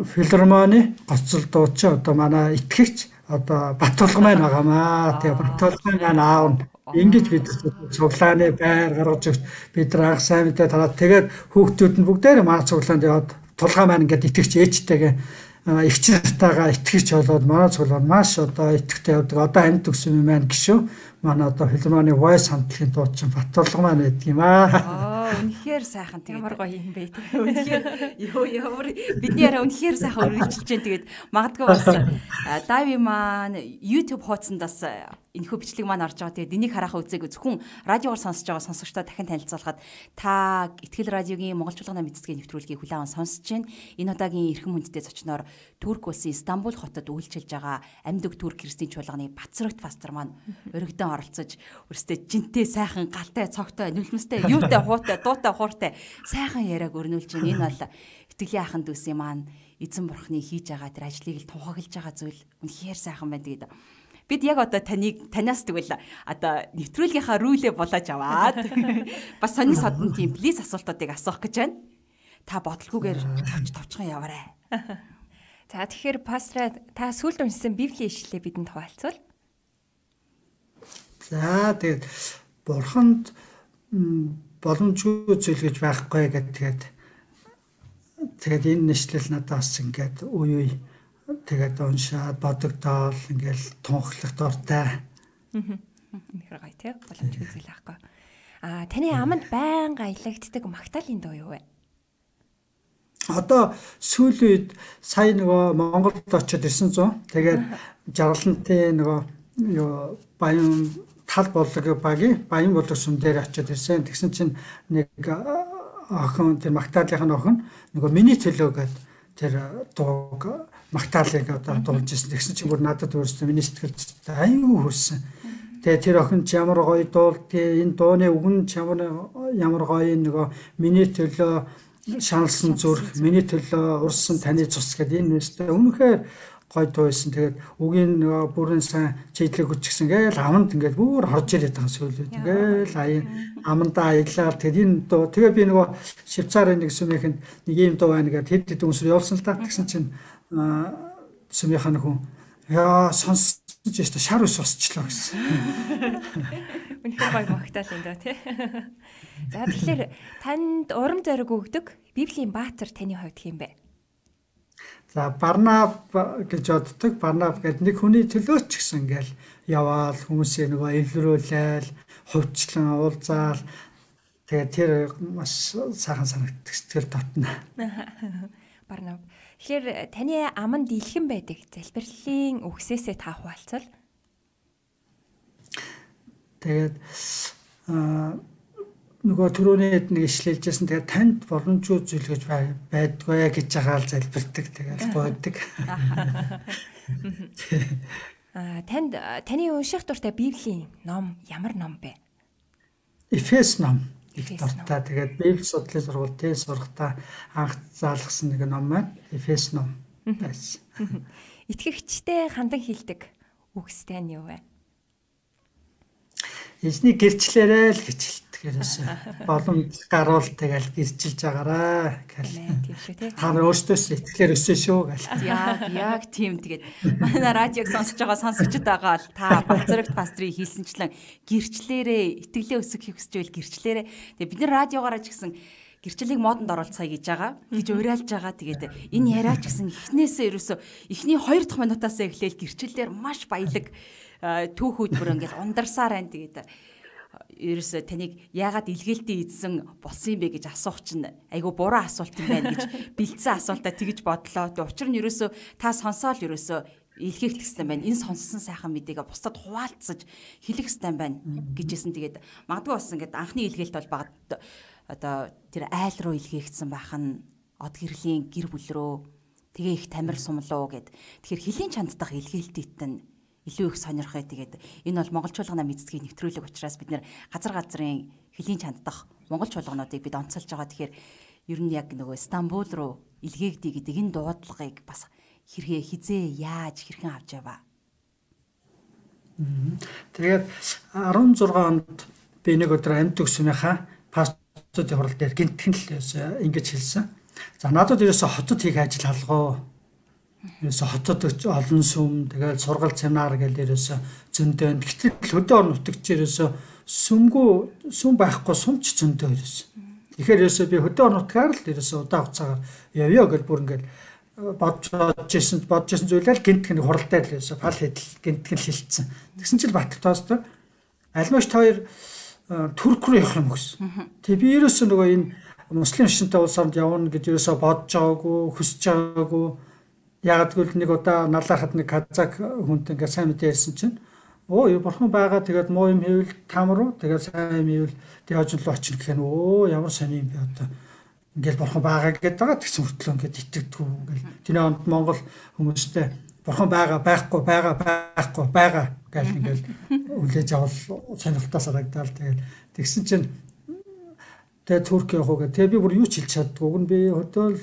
филармоны гоцол дууч одоо манай итгэгч одоо Баттулга маань байгаамаа. Тэгээ Баттулга маань аав нь ингэж бид цуглааны байр гаргаж өгч бид нар анх сайн мэдээ тараад тэгээд хүүхдүүд нь бүгдээр манай цуглаанд яваад тулгаа маань ингээд итгэгч ээжтэйгээ эгч нартайгаа итгэгч болоод манай цуглаанд маш одоо итгэвтэй явдаг. Одоо амьд төгсөн юм маань гişүү. Манай одоо филармоны voice хамтлагийн дуучин Баттулга маань байдаг юм аа. Үнэхээр сайхан тэгээд ямар гоё юм бэ. Үнэхээр ёо ямар бидний яриа үнэхээр сайхан үргэлжилж जैन тэгээд магадгүй бас лайв маань YouTube хуудсандаас энэхүү бичлэг маань орж байгаа. Тэгээд энийг харахаа үзээгүй зөвхөн радиогоор сонсож байгаа сонсогчдоо дахин танилцуулахад та Итгэл радиогийн Монголчуудын мэдцгийн нэвтрүүлгийг хүлээн аван сонсож байна. Энэ удаагийн эрхэм хүндтэй зочноор Турк улсын Стамбул хотод үйлчилж байгаа амьд Турк христийн чуулганы Бацрагт пастор маань өргөдөн оролцож өөрсдөө жинтэй сайхан галтай цогтой нүлмэстэй юутай хуутай дуутай хууртай сайхан яриаг өрнүүлж байна. Энэ бол итгэлийн ахын дүүсийн маань эзэн бурхны хийж байгаа тэр ажлыг л тунхаглаж байгаа зүйл үнэхээр сайхан байна гэдэг. Бид яг одоо таныг танаас тэгвэл одоо нэвтрүүлгийнхаа рүүлээ булааж аваад бас сонин содон тийм плиз асуултуудыг асуух гэж байна. Та бодлогоогоор тавч тавчхан яваарай. За тэгэхээр пастор та сүүлд уншсан Библийн ишлэлээ бидэнд хуваалцвал. За тэгээд бурханд боломжгүй зүйл гэж байхгүй гэдэг тэгээд тэгээд энэ нэшлэл надаас ингээд үе үе тэгээд уншаад бодогдоол ингээл тунхлах дуртай. Үнэхээр гоё тий боломжгүй зүйл байхгүй. Аа таны аманд байнга аялагддаг магтаалын дуу юу вэ? Одоо сүүлийн үед сая нөгөө Монголд очиод ирсэн зүүн. Тэгээд жаргалантын нөгөө юу баян тал боллог багийн баян боллог сүм дээр очиод ирсэн. Тэгсэн чинь нэг охин тэр магтаалынх нь охин нөгөө миний төлөө гэдэг тэр дууг магтаалыг одоо дуулж ирсэн. Тэгсэн чинь бүр надад өөрсдөө миний сэтгэлд аюу хүрсэн. Тэгээ тэр охин ч ямар гоё дуулдгийг энэ дууны үг нь ямар ямар гоё нөгөө миний төлөө шаналсан зүрх, миний төлөө урсан таны цус гэдэг энэ нэстэ үнэхээр гоё дуу байсан. Тэгээд үгийн нөгөө бүрэн сайн чийдлэг хүчгсэн гээл аманд ингээд бүр орж ирээд байгаа сүлүүд. Ингээл аян амандаа аялал тэгээд энэ дуу тэгээ би нөгөө Швейцарын нэг сүмийнхэнд нэг ийм дуу байна гэдэг хэд хэд үнсэр явуулсан л та. Тэгсэн чинь сүмийнхэн хүн яа сонсож яста шар ус усчлаа гэсэн. Үнэхээр гоё магтаал энэ доо тий. За тэгэхээр танд урам зориг өгдөг Библийн баатар таны хувьд хэм бэ? За Барнаб гэж боддог. Барнаб гэдэг нэг хүний төлөө ч гэсэн ингээл яваал хүмүүсээ нөгөө эвлэрүүлээл, хувьчлан уулзаал тэгээд тэр маш сайхан санагддаг сэтгэл татна. Барнаб. Тэгэхээр таны аманд илхэн байдаг залбирлын үгсээсээ та хуваалцвал. Тэгээд нөгөө түрүүний нэг ишлэлжсэн тэгээд танд боломжгүй зүйл гэж байдгүй гэж байгаа л залбирдаг тэгээд гойдог. Аа танд таны унших дуртай Библийн ном ямар ном бэ? Эфес ном. Их дуртай. Тэгээд Библи судлалын сургуульд сурахтаа анх заалгасан нэг ном маань Эфес ном байсан. Итгэгчтэй хандан хэлдэг үгстэй нь юу вэ? Эзний гэрчлээрээ л гэж хэлдэг ерөөсөө. Боломж гаруул тэгэл гэрчилж байгаараа гэл. Тийм шүү тий. Та нар өөрсдөөс итгэлээр өссөн шүү гэл. Яг яг тийм тэгээд манай радиог сонсож байгаа сонсогчд байгаа л та Бацрагт пастрыг хийсэнчлэн гэрчлэрээ итгэлээ өсгөх хүсэж байл гэрчлэрээ. Тэгээд бид нар радиогоор ч гэсэн гэрчлэлийг модонд оруулцгаая гэж байгаа. Гэж уриалж байгаа. Тэгээд энэ яриач гэсэн эхнээсээ ерөөсөө эхний хоёр дахь минутаас эхлээл гэрчлэлээр маш баялаг түүхүүд бүр ингээд ундарсаар байна. Тэгээд ерөөсөө таныг яагаад илгээлтийн эзэн болсон юм бэ гэж асуух чинь айгүй буруу асуулт юм байна гэж бэлдсэн асуултаа тэгж бодлоо. Тэг учир нь ерөөсөө та сонсоол ерөөсөө илгээх гэсэн байна. Энэ сонссон сайхан мэдээгээ бусдад хуваалцаж хэлэх хэрэгтэй байна гэжсэн. Тэгээд магадгүй бас ингээд анхны илгээлт бол багт одоо тэр айл руу илгээгдсэн байх нь од гэрлийн гэр бүл рүү тэгээ их тамир сумлуу гэд. Тэгэхээр хөлийн чанд дахь илгээлтэд нь илүү их сонирхоо. Тэгээд энэ бол монгол чуулганы мэдсгийн нэвтрүүлэг учраас бид нэр газар газрын хөлийн чанддах монгол чуулгануудыг бид онцолж байгаа. Тэгэхээр ер нь яг нөгөө Стамбул руу илгээгдээ гэдэг энэ дуудлагыг бас хэрхээ хизээ яаж хэрхэн авч яваа. Тэгээд арван зургаан онд би нэг өдөр амьд өгснөөхаа паспортын хурал дээр гинтхэн л ингэж хэлсэн. За надад ерөөсө хотод хийх ажил алгоо. Ерөөсө хотод олон сүм тэгээд сургал семинар гэж ерөөсө зөндөө. Гэтэл хөдөө орон нутагч ерөөсө сүмгүй сүм байхгүй сумч зөндөө ерөөсө. Тэгэхээр ерөөсө би хөдөө орон нутгаар л ерөөсө удаа хугацаагаар явъя гэж бүр ингээд бодж бодчихсон бодчихсон зүйлээ гинтгэн хуралтай л ерөөсө пал хэдэл гинтгэн хилцсэн. Тэгсэн чинь Батал тоостой альмаш хоёр Турк руу явах юм гэсэн. Тэг би ерөөсө нөгөө энэ муслим шинтэй улс орнд явна гэж ерөөсө бодож байгаагүй, хүсэж байгаагүй. Яг гэвэл нэг удаа налахад нэг казак хүнтэй ингээд сайн мэдээ ярьсан чинь оо юу бурхан байгаа тэгээд муу юм хийвэл там руу тэгээд сайн юм хийвэл тэгээд хожинлоо очих гэх нь оо ямар сони юм бэ одоо ингээд бурхан байгаа гэдэг байгаа тэгсэн хүртлөө ингээд итгэдэггүй ингээд тэний онд Монгол хүмүүстэй бурхан байгаа байхгүй байгаа байхгүй байгаа гэж ингээд үлээж авал сонирхолтой санагдал тэгээд тэгсэн чинь тэгээд Турк явах уу гэдэг. Тэгээд би бүр юу ч хэлж чаддгүй. Уг нь би хөдөөл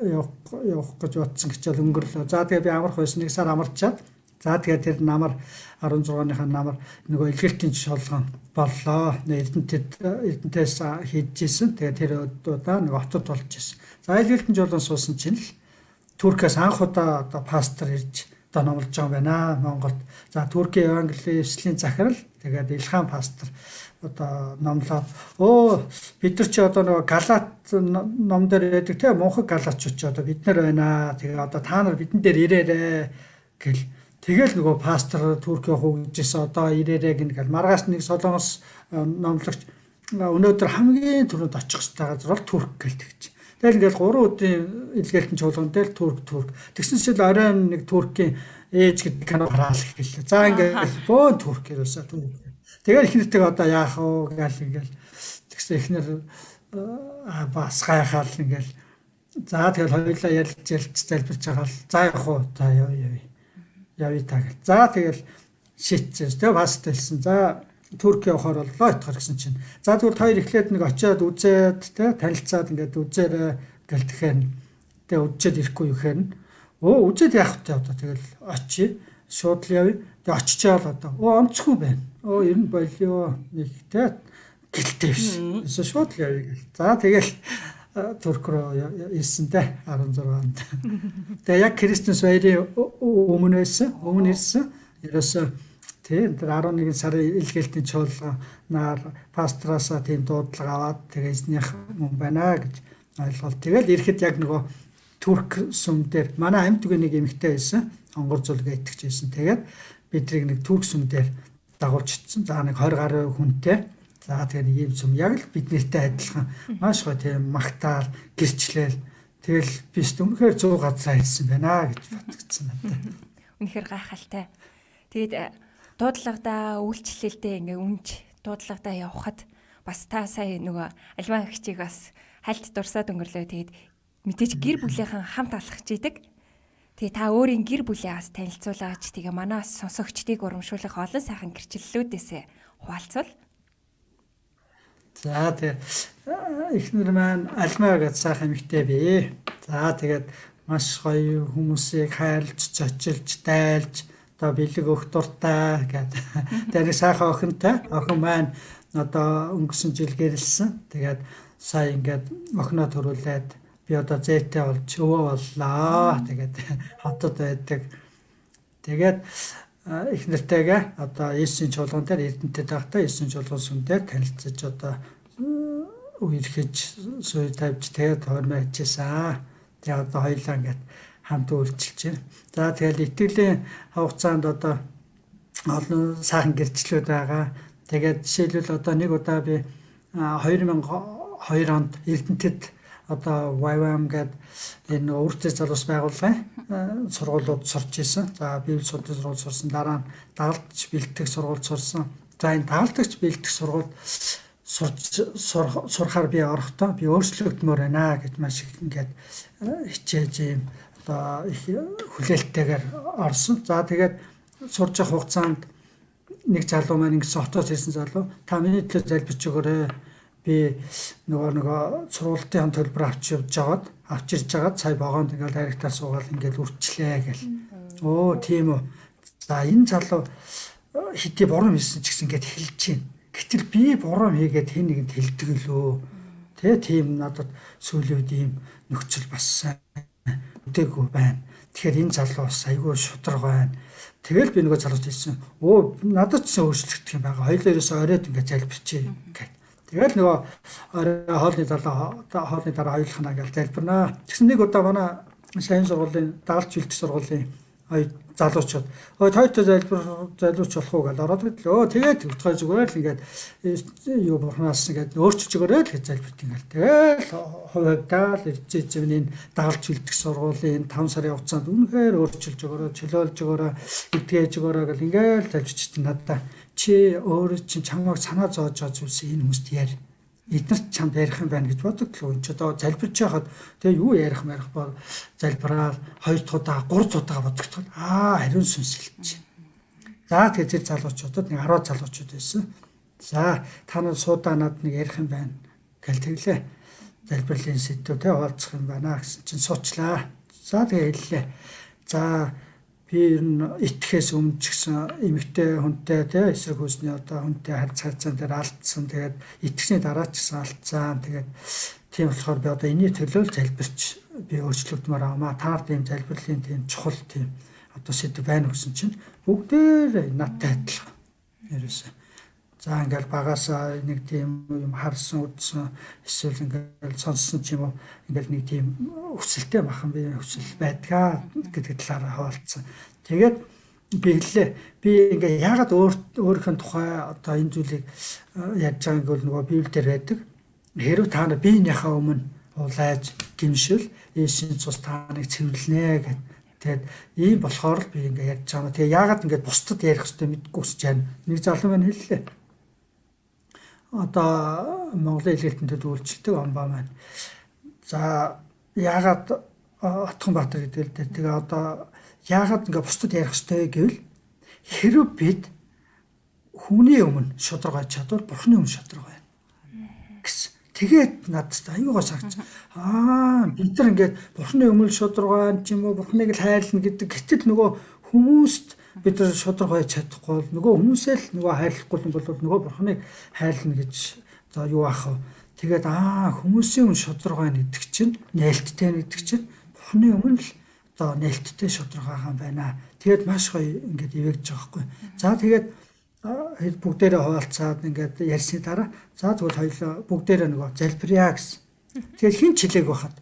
явах явах гэж бодсон гэчээл өнгөрлөө. За тэгээд би амарх байсан нэг сар амарчаад. За тэгээд тэр намар арван зургааныхаа намар нөгөө илгээлтийн шолгоон боллоо. Эрдэнэтэд эрдэнэтээс хийжсэн. Тэгээд тэр удаа нэг хотод болж ирсэн. За илгээлтийн жолоон суусан чинь л Туркаас анх удаа одоо пастор ирж одоо номлож байгаа юм байна Монголд. За Туркийн Евангелийн эвслийн захирал тэгээд Илхан пастор одоо номлоод оо бид нар чи одоо нөгөө Галат ном дээр байдаг те мунхаг галатчууд чи одоо бид нар байна. Тэгээ одоо та нар бидэн дээр ирээрээ гэл тэгэл нөгөө пастор Туркийн хөгжижсэн одоо ирээрээ гингээл маргааш нэг солонгос номлогч өнөөдөр хамгийн түрүүнд очих хэрэгтэй газар бол Турк гэлтэгч. Тэгэл ингээл гурван өдрийн илгээлтэн чуулган дээр Турк Турк тэгсэн чинь оройн нэг Туркийн ээж гэдэг кино хараал гэлээ. За ингээл бөөн Турк ерөөсөө Турк. Тэгээд ихнэртэйг одоо яах вэ гэл ингээл тэгсэн ихнэр бас гайхаал ингээл за тэгэл хоёулаа ярилж ярилж залбирч байгаа л за явах уу за яв яв явъя та гэл. За тэгэл шийдсэн. Тэгээ бас хэлсэн. За Турк явахаар боллоо ятгах гэсэн чинь. За тэгвэл хоёр эхлээд нэг очиод үзээд тэ танилцаад ингээд үзээрэй гэл тэгэхээр тэгээ үзээд ирэхгүй юу гэхээр оо үзээд яах вэ одоо тэгэл очие шууд л явъя. Тэгээ очичаал одоо оо онцгүй байна. Оо ер нь болио нэг тэ гэлтэй биш. Эсвэл шууд л явъя гэл. За тэгэл Турк руу ирсэн тэ арван зургаанд. Тэгээ яг Кристмас баярын өмнө байсан. Өмнө ирсэн. Ерөөсөө тийм тэр арван нэгэн сарын илгээлтийн чуулганаар пастраасаа тийм дуудлага аваад тэгээ эзнийх юм байна гэж ойлголт. Тэгэл ирэхэд яг нөгөө Турк сүм дээр манай амьд үгүй нэг эмэгтэй байсан. Онгор зүлгээ итгэж байсан. Тэгээд бидрийг нэг Турк сүм дээр дагуулчихсан. За нэг двадцать гаруй хүнтэй. За тэгээд ийм сүм яг л биднэртэй адилхан маш гоё тийм магтаал гэрчлээл тэгэл би өмнөхөр зур газар хэлсэн байна гэж бодгдсон надад. Үнэхээр гайхалтай. Тэгээд дуудлагадаа үйлчлэлдээ ингээ үнж дуудлагадаа явхад бас та сая нөгөө альваа хчиг бас хальт дурсаад өнгөрлөө. Тэгээд мэдээж гэр бүлийнхэн хамт алхаж идэг. Тэгээ та өөрийн гэр бүлээ бас танилцуулаач. Тэгээ манаас сонсогчдыг урамшуулах олон сайхан гэрчлэлүүдээсээ хуваалцвал. За тэгээ эхнэр маань альмаа гэж сайхан эмэгтэй бий. За тэгээд маш гоё хүмүүсийг хайрлж, зочилж, дайлж одоо бэлэг өгөх дуртай гэдэг. Тэгээд сайхан охинтой. Охин маань одоо өнгөрсөн жил гэрэлсэн. Тэгээд сая ингээд охиноо төрүүлээд би одоо зээтэй болж өвөө боллоо. Тэгээд хотод байдаг. Тэгээд их нэртэйгээ одоо Есүсийн чуулган дээр Эрдэнэтэд байхдаа Есүсийн чуулган сүмдээр танилцаж одоо үерхэж сүй тавьж тэгээд хормоо хийжсэн. Тэгээд одоо хоёулаа ингээд хамт үйлчилж байна. За тэгэл итгэлийн хугацаанд одоо олон сайхан гэрчлэлүүд байгаа. Тэгээд жишээлбэл одоо нэг удаа би две тысячи two онд Эрдэнэтэд одоо вай вай эм гэдэг энэ өөртөө залуус байгууллагын сургуулиуд сурч ирсэн. За библи судлалын сургууль сурсан. Дараа нь дагалдагч бэлтгэх сургууль сурсан. За энэ дагалдагч бэлтгэх сургууль сурч сурахаар би орохдоо би өөрчлөгдмөр байна гэж маш их ингээд хичээж юм одоо их хүлээлттэйгээр орсон. За тэгээд сурж явах хугацаанд нэг залуу маань ингэсэн хотоос ирсэн залуу та миний төлөө залбирч өгөөрэй. Би нөгөө нөгөө сургуулийн төлбөр авч явж жагаад авч ирж жагаад сая вагонд ингээл дайректаар суугаад ингээл үрчлээ гэл. Оо тийм үү. За энэ залуу хэдий буруу хийсэн ч гэсэн ингээд хэлж чинь. Гэтэл би буруу хийгээд хэн нэгэнд хэлдэг лөө. Тэ тийм надад сүүлийн үед ийм нөхцөл бас сайн үдээгүй байна. Тэгэхээр энэ залуу бас айгүй шудраг байна. Тэгэл би нөгөө залуус хэлсэн. Оо надад ч өөрчлөгдөх юм байгаа. Хоёулаа ерөөсөө оройд ингээд залбирчээ гэв. Тэгэл нөгөө хоолны дараа хоолны дараа хоёулахна гэж залбирнаа. Тэгсэн нэг удаа манай сайн сургуулийн дагалч бэлтгэх сургуулийн хоёр залуучууд ой тойтой залбир залууч болох уу гэж ороод ирлээ. Өө тэгээд төгтгой зүгээр л ингээд юу бурхнаас ингээд өөрчилж өгөөрэй л гэж залбирт ингээл. Тэгэл хувьдаа л эцэжмийн дагалч бэлтгэх сургуулийн таван сарын хугацаанд үнэхээр өөрчилж өгөөрэй, чөлөөлж өгөөрэй, эдгээж өгөөрэй гэл ингээл залбирчихдээ надаа чи өөрөө чинь чамайг санаа зоож байгаа зүйлс энэ хүмүүст яар. Эднэрт чамд ярих юм байна гэж бодогдлоо. Энд ч одоо залбирч байхад тэгээ юу ярих марих бол залбираад хоёр дахь удаа гурав дахь удаа бодогдоход аа хариун сүнслэлж. За тэгээ зэрэг залуучуудад нэг арван залуучууд байсан. За та нар суудаа над нэг ярих юм байна гэл тэглээ. Залбирлын сэдвүү тэ хаалцах юм байна гэсэн чинь суучлаа. За тэгээ хэллээ. За би ер нь итгэхээс өмнө ч гэсэн эмэгтэй хүнтэй тий эсрэг хүйсний одоо хүнтэй харьцаа харьцаан дээр алдсан. Тэгээд итгэсний дараа ч гэсэн алдсан. Тэгээд тийм болохоор би одоо энэний төлөө л залбирч би өөрчлөгдмөр авмаа. Таар тийм залбирлын тийм чухал тийм одоо сэдв байна гэсэн чинь бүгдээр надтай адилхан. Ерөөсөө. За ингээл багасаа нэг тийм юм харсан үдсэн эсвэл ингээл сонссон ч юм уу ингээл нэг тийм өсөлттэй бахан би өсөл байдгаа гэдэг талаараа хаалцсан. Тэгээд би хэллээ би ингээ яагаад өөрийнхөө тухай одоо энэ зүйлийг яаж байгааг бол нөгөө Библиэлд байдаг. Хэрв та нар биенийхээ өмнө улайж гимшил Есүсийн цус тааныг цэвэрлэнэ гэдэг. Тэгээд ийм болохоор л би ингээ ярьж байгаа. Тэгээ яагаад ингээ бусдад ярих хэрэгтэй мэдгүй хүсэж байна. Нэг залуу маань хэллээ. Одоо Монголын хэлэлтэнтэй үйлчлдэг омбаа маань. За яагаад Отгонбаатар гэдэг л дээ. Тэгээ одоо яагаад ингээ бусдад ярих хэрэгтэй гэвэл хэрв бид хүний өмнө шударгаж чадвал бурхны өмнө шударга байна гэсэн. Тэгээд надад аюугаа сагч. Аа бид нар ингээд бурхны өмнө шударга ч юм уу бурхныг л хайрлна гэдэг. Гэтэл нөгөө хүмүүст бид нар шударга байж чадахгүй бол нөгөө хүмүүсээ л нөгөө хайрлахгүй юм бол нөгөө бурхныг хайрлна гэж за юу аах вэ? Тэгээд аа хүмүүсийн өмнө шударга гэдэг чинь нээлттэй гэдэг чинь бурхны өмнө л одоо нээлттэй шударга хаан байна. Тэгээд маш гоё ингээд ивэгж байгаа хгүй. За тэгээд бүгдээрээ хуваалцаад ингээд ярьсны дараа за тэгвэл хоёулаа бүгдээрээ нөгөө залбирая гэсэн. Тэгээд хин чилээг байхад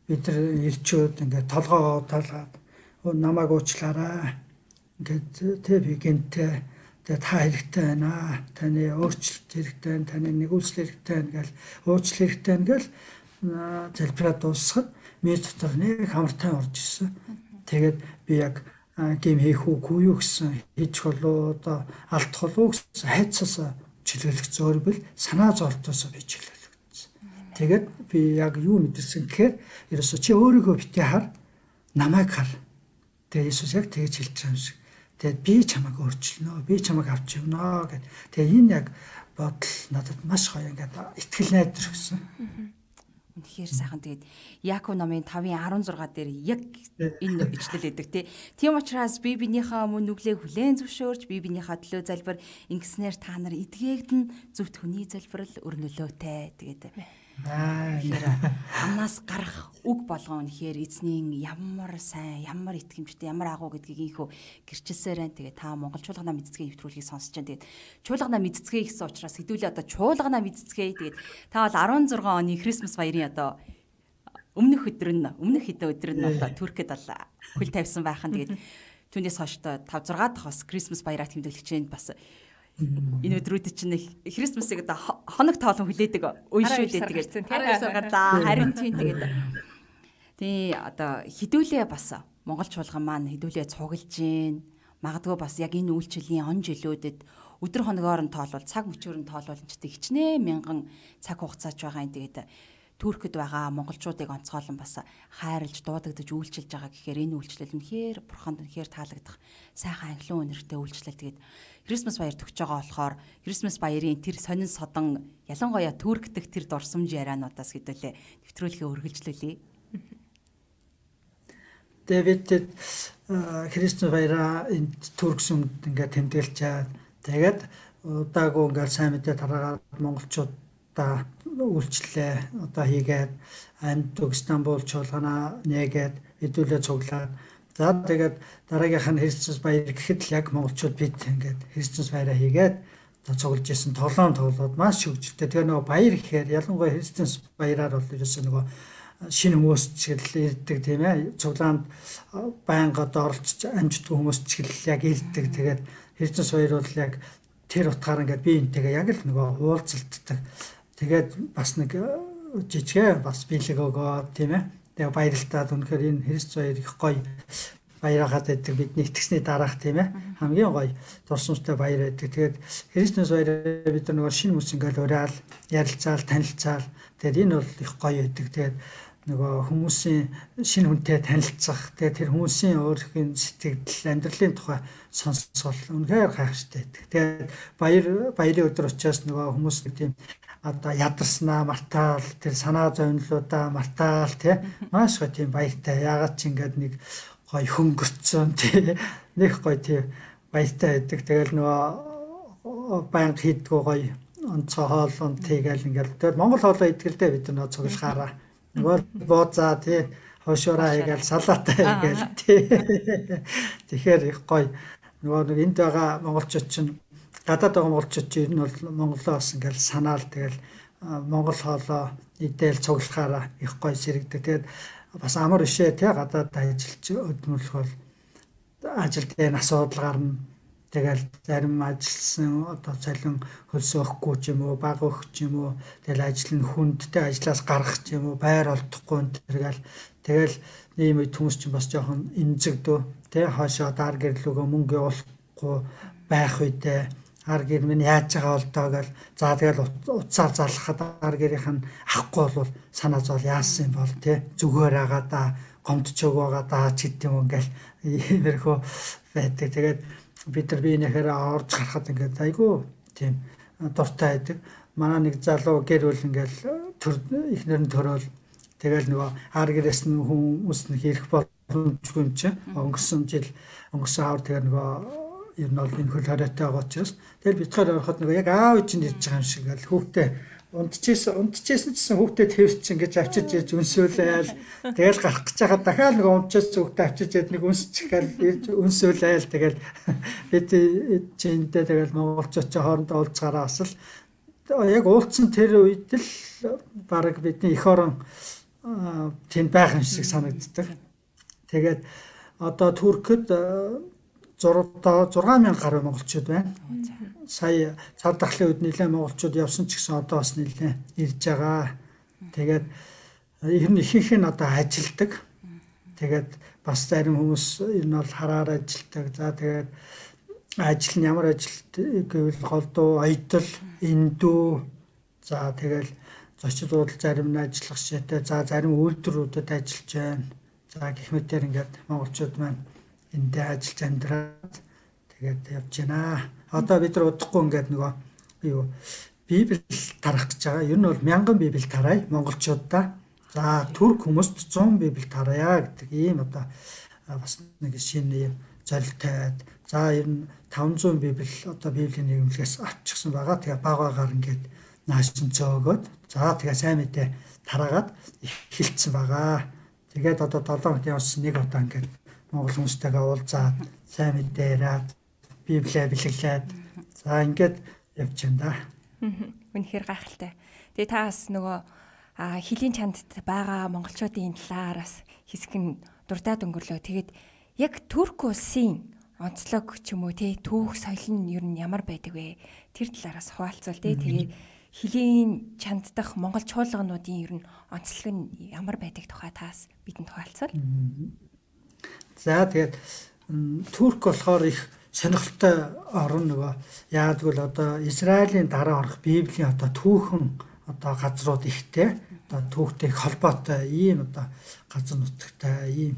бид нар ирчүүд ингээд толгоо талгаад намайг уучлаарай. Ингээд тэ би гэнтэй тэгээ та хэрэгтэй байна. Таны өөрчлөлт хэрэгтэй байна. Таны нэгүсэл хэрэгтэй байна гэл уучлал хэрэгтэй байна гэл залбираад дуусахад миний дотор нэг хамартай орж ирсэн. Тэгээд би яг гим хийх үгүй юу гэсэн хийж болоо одоо алдах болоо гэсэн хайцаас чөлөөлөх зөөрбөл санаа зовлтоос би чөлөөлөгдсөн. Тэгээд би яг юу мэдэрсэн гэхээр ерөөсө чи өөрийгөө битээ хар намайг хар. Тэгээд Иесус яг тэгж хэлж байгаа юм шиг. Тэгээд би чамайг өөрчилнө. Би чамайг авч явна гэд. Тэгээд энэ яг бодол надад маш гоё ингээд итгэл найдар өгсөн. Үнэхээр сайхан. Тэгээд Яаков номын тавын арван зургаа дээр яг энэ ичлэл өгдөг тий. Тийм учраас би биенийхээ өмнө нүглээ хүлээн зөвшөөрч би биенийхээ төлөө залбир ингэснээр та нар эдгээгдэн зөвхт хүний залбирал өрнөлөөтэй. Тэгээд амнаас гарах үг болгон үнэхээр эзний ямар сайн, ямар итгэмжтэй, ямар агуу гэдгийг ийхүү гэрчилсээр байна. Тэгээд та Монгол чуулгана мэдцгээ нэвтрүүлгийг сонсож байна. Тэгээд чуулгана мэдцгээ гэсэн учраас хэдүүлээ одоо чуулгана мэдцгээ. Тэгээд та бол арван зургаан оны Крисмас баярын одоо өмнөх өдөр нь өмнөх хэдэн өдөр нь одоо Туркид бол хөл тавьсан байхan. Тэгээд түүнээс хойш тавь зургаа дахь бас Крисмас баяраа тэмдэглэж бас энэ өдрүүд чинь Христмасыг одоо хоног тоолон хүлээдэг үе шүү дээ. Тэгээд харин харин тийм тэгээд тий одоо хідүүлээ бас Монгол чуулган маань хідүүлээ цуглаж гин магадгүй бас яг энэ үйлчлэлийн он жилүүдэд өдөр хоногоор нь тоолвол цаг мөчөөр нь тоолвол ч гэдэг хичнээн мянган цаг хугацаач байгаа юм. Тэгээд Туркид байгаа монголчуудыг онцгойлон бас хайрлж дуудагдж үйлчилж байгаа гэхээр энэ үйлчлэл үнэхээр бурханд үнэхээр таалагдах сайхан ангилан үнэртэй үйлчлэл. Тэгээд Крисмас баяр төгсөж байгаа болохоор Крисмас баярын тэр сонин содон ялангуяа Турк дэх тэр дурсамж яриануудаас хэдүүлээ нэвтрүүлгээ үргэлжлүүлье. Дэвид Крисмас баяраа энэ Турк сүмд ингээд тэмдэглэж чаад тэгээд удаагүй ингээд сайн мэдээ тараагаад монголчуудаа үйлчлэлээ одоо хийгээд Антук Стамбул чуулгана нээгээд хэдүүлээ цуглаад за тэгээд дараагийнх нь Крисмас баяр гэхэд л яг монголчууд бид ингээд Крисмас баяраа хийгээд одоо цуглаж исэн тоглоом тоглоод маш хөвгөлтэй. Тэгээ нөгөө баяр гэхээр ялангуяа Крисмас баяраар бол ерөөсөө нөгөө шинэ хүмүүс ч гэл ирдэг тийм ээ. Цуглаанд байнга одоо оролцож амжтгүй хүмүүс ч гэл яг ирдэг. Тэгээд Крисмас баяр бол яг тэр утгаар ингээд би энтэйгээ яг л нөгөө уулзалтдаг. Тэгээд бас нэг жижиг бас биелэг өгөө тийм ээ. Тэгээ баярлалаа үнэхээр энэ Крисмас баяр их гоё баяраагаад байдаг бидний итгэсний дараах тийм ээ. Хамгийн гоё дурсамжтай баяр байдаг. Тэгээд Крисмас баяраа бид нар нөгөө шинэ хүмүүс ингээд уриал ярилцаал танилцаал тэгээд энэ бол их гоё байдаг. Тэгээд нөгөө хүмүүсийн шинэ хүнтэй танилцах тэгээд тэр хүмүүсийн өөрхийн сэтгэл амьдралын тухай сонсгол үнэхээр гайхалтай байдаг. Тэгээд баяр баярын өдөр учраас нөгөө хүмүүс тийм одоо ядарснаа мартаал тэр санаа зовнилуудаа мартаал тий маш гоё тийм баяртай. Яагаад ч ингээд нэг гоё хөнгөрцөн тий нэг гоё тийм баяртай байдаг. Тэгэл нөгөө банк хийдгүү гоё онцгой хоол унд тийгээл ингээд тэгэл Монгол хоолоо идгэлдээ бид нөгөө цуглахаараа нөгөө бууцаа тий хошоороо хийгээл салаатаа хийгээл тий тэгэхээр их гоё нөгөө нэг энд байгаа монголчууд чинь гадаад байгаа монголчууд чинь энэ бол монголоос ингээл санаал тэгэл монгол хоолоо идээл цуглахаараа их гоё сэрэгдэг. Тэгээд бас амар ишээ тий гадаад ажиллаж өдмөрлөх бол ажил дээр асуудал гарна. Тэгэл зарим ажилласан одоо цалин хөлс өгөхгүй ч юм уу баг өгөх ч юм уу тэгэл ажил нь хүндтэй ажлаас гарах ч юм уу байр олдохгүй тэргээл тэгэл ийм үед хүмүүс чинь бас жоохон эмзэгдөө тий хаашаа дар гэрлүүгөө мөнгө явуулахгүй байх үедээ ар гэр минь яаж байгаа болдоо гэл за тэгэл утсаар залхахад ар гэрийнх нь авахгүй бол санаа зовол яасан юм бол тий зүгээр байгаа да гомдчоог байгаа да ч гэдэг юм ингээл иймэрхүү байдаг. Тэгээд бид нар биенийхээр орж гарахад ингээд айгүй тийм дуртай байдаг. Манай нэг залуу гэр бүл ингээл төр ихнэр нь төрөөл тэгэл нөгөө ар гэрээс нь хүмүүс нь хийх боломжгүй юм чи өнгөрсөн жил өнгөрсөн хавар тэгээ нөгөө ер нь бол энэ хөл хориотой байгаа учраас тэгэл битгаар ороход нөгөө яг аав чинь ирж байгаа юм шиг ингээл хүүхдээ унтчихсан унтчихсан гэсэн хүүхдээ тэрч ингэж авчиж ирж үнсүүлээл тэгэл гарах гэж байхад дахиад нэг унтчихсан хүүхдээ авчиж ирж нэг үнсчихэл ирж үнсүүлээл тэгэл бид чиндээ тэгэл монголчууд ч хоорондоо уулзгаараа бас л яг уулзсан тэр үед л баг бидний эх орон тэнд байх юм шиг санагддаг. Тэгээд одоо Туркид зураг мянган гаруй монголчууд байна. Сая цар тахлын үед нэлээд монголчууд явсан ч гэсэн одоо бас нэлээд ирж байгаа. Тэгээд ер нь ихэнх нь одоо ажилдаг. Тэгээд бас зарим хүмүүс ер нь бол хараар ажилдаг. За тэгээд ажил нь ямар ажил гэвэл голдуу, оёдол, эндүү. За тэгэл зочид буудал зарим нь ажиллах шитэй. За зарим үйлдвэрүүдэд ажиллаж байна. За гэх мэтээр ингээд монголчууд маань эндээ ажиллаж амьдраад тэгээд явж байна. Одоо бид нар удахгүй ингээд нөгөө юу Библи тарах гэж байгаа. Ер нь бол мянган Библи тарая монголчуудаа. За турк хүмүүст зуун Библи тарая гэдэг ийм одоо бас нэг шинэ юм зорилтойд. За ер нь таван зуун Библи одоо Библийн нийгэмлэгээс авчихсан байгаа. Тэгээ баг багаар ингээд нааш чинь зөөгөөд за тэгээ сайн мэдээ тараагаад эхэлсэн байгаа. Тэгээд одоо долоон хоног явсан нэг удаа ингээд монгол хүмүүстэйгээ уулзаад сайн мэдээ яриад Библиэ бэлэглээд за ингээд явж байна да. Үнэхээр гайхалтай. Тэгээ та бас нөгөө хилийн чандд байгаа монголчуудын талаараас хэсэг нь дурдаад өнгөрлөө. Тэгээд яг Турк улсын онцлог ч юм уу тий түүх соёл нь ер нь ямар байдаг вэ? Тэр талаараас хуваалцвал тий тэгээд хилийн чанд дах монгол чуулгануудын ер нь онцлог нь ямар байдаг тухай таас бидэнд хуваалцвал. За тэгээд Турк болохоор их сонирхолтой орн нөгөө яагтвэл одоо Израилийн дараа орох Библийн одоо түүхэн одоо газрууд ихтэй. одоо түүхтэй холбоотой ийм одоо газар нутагтай ийм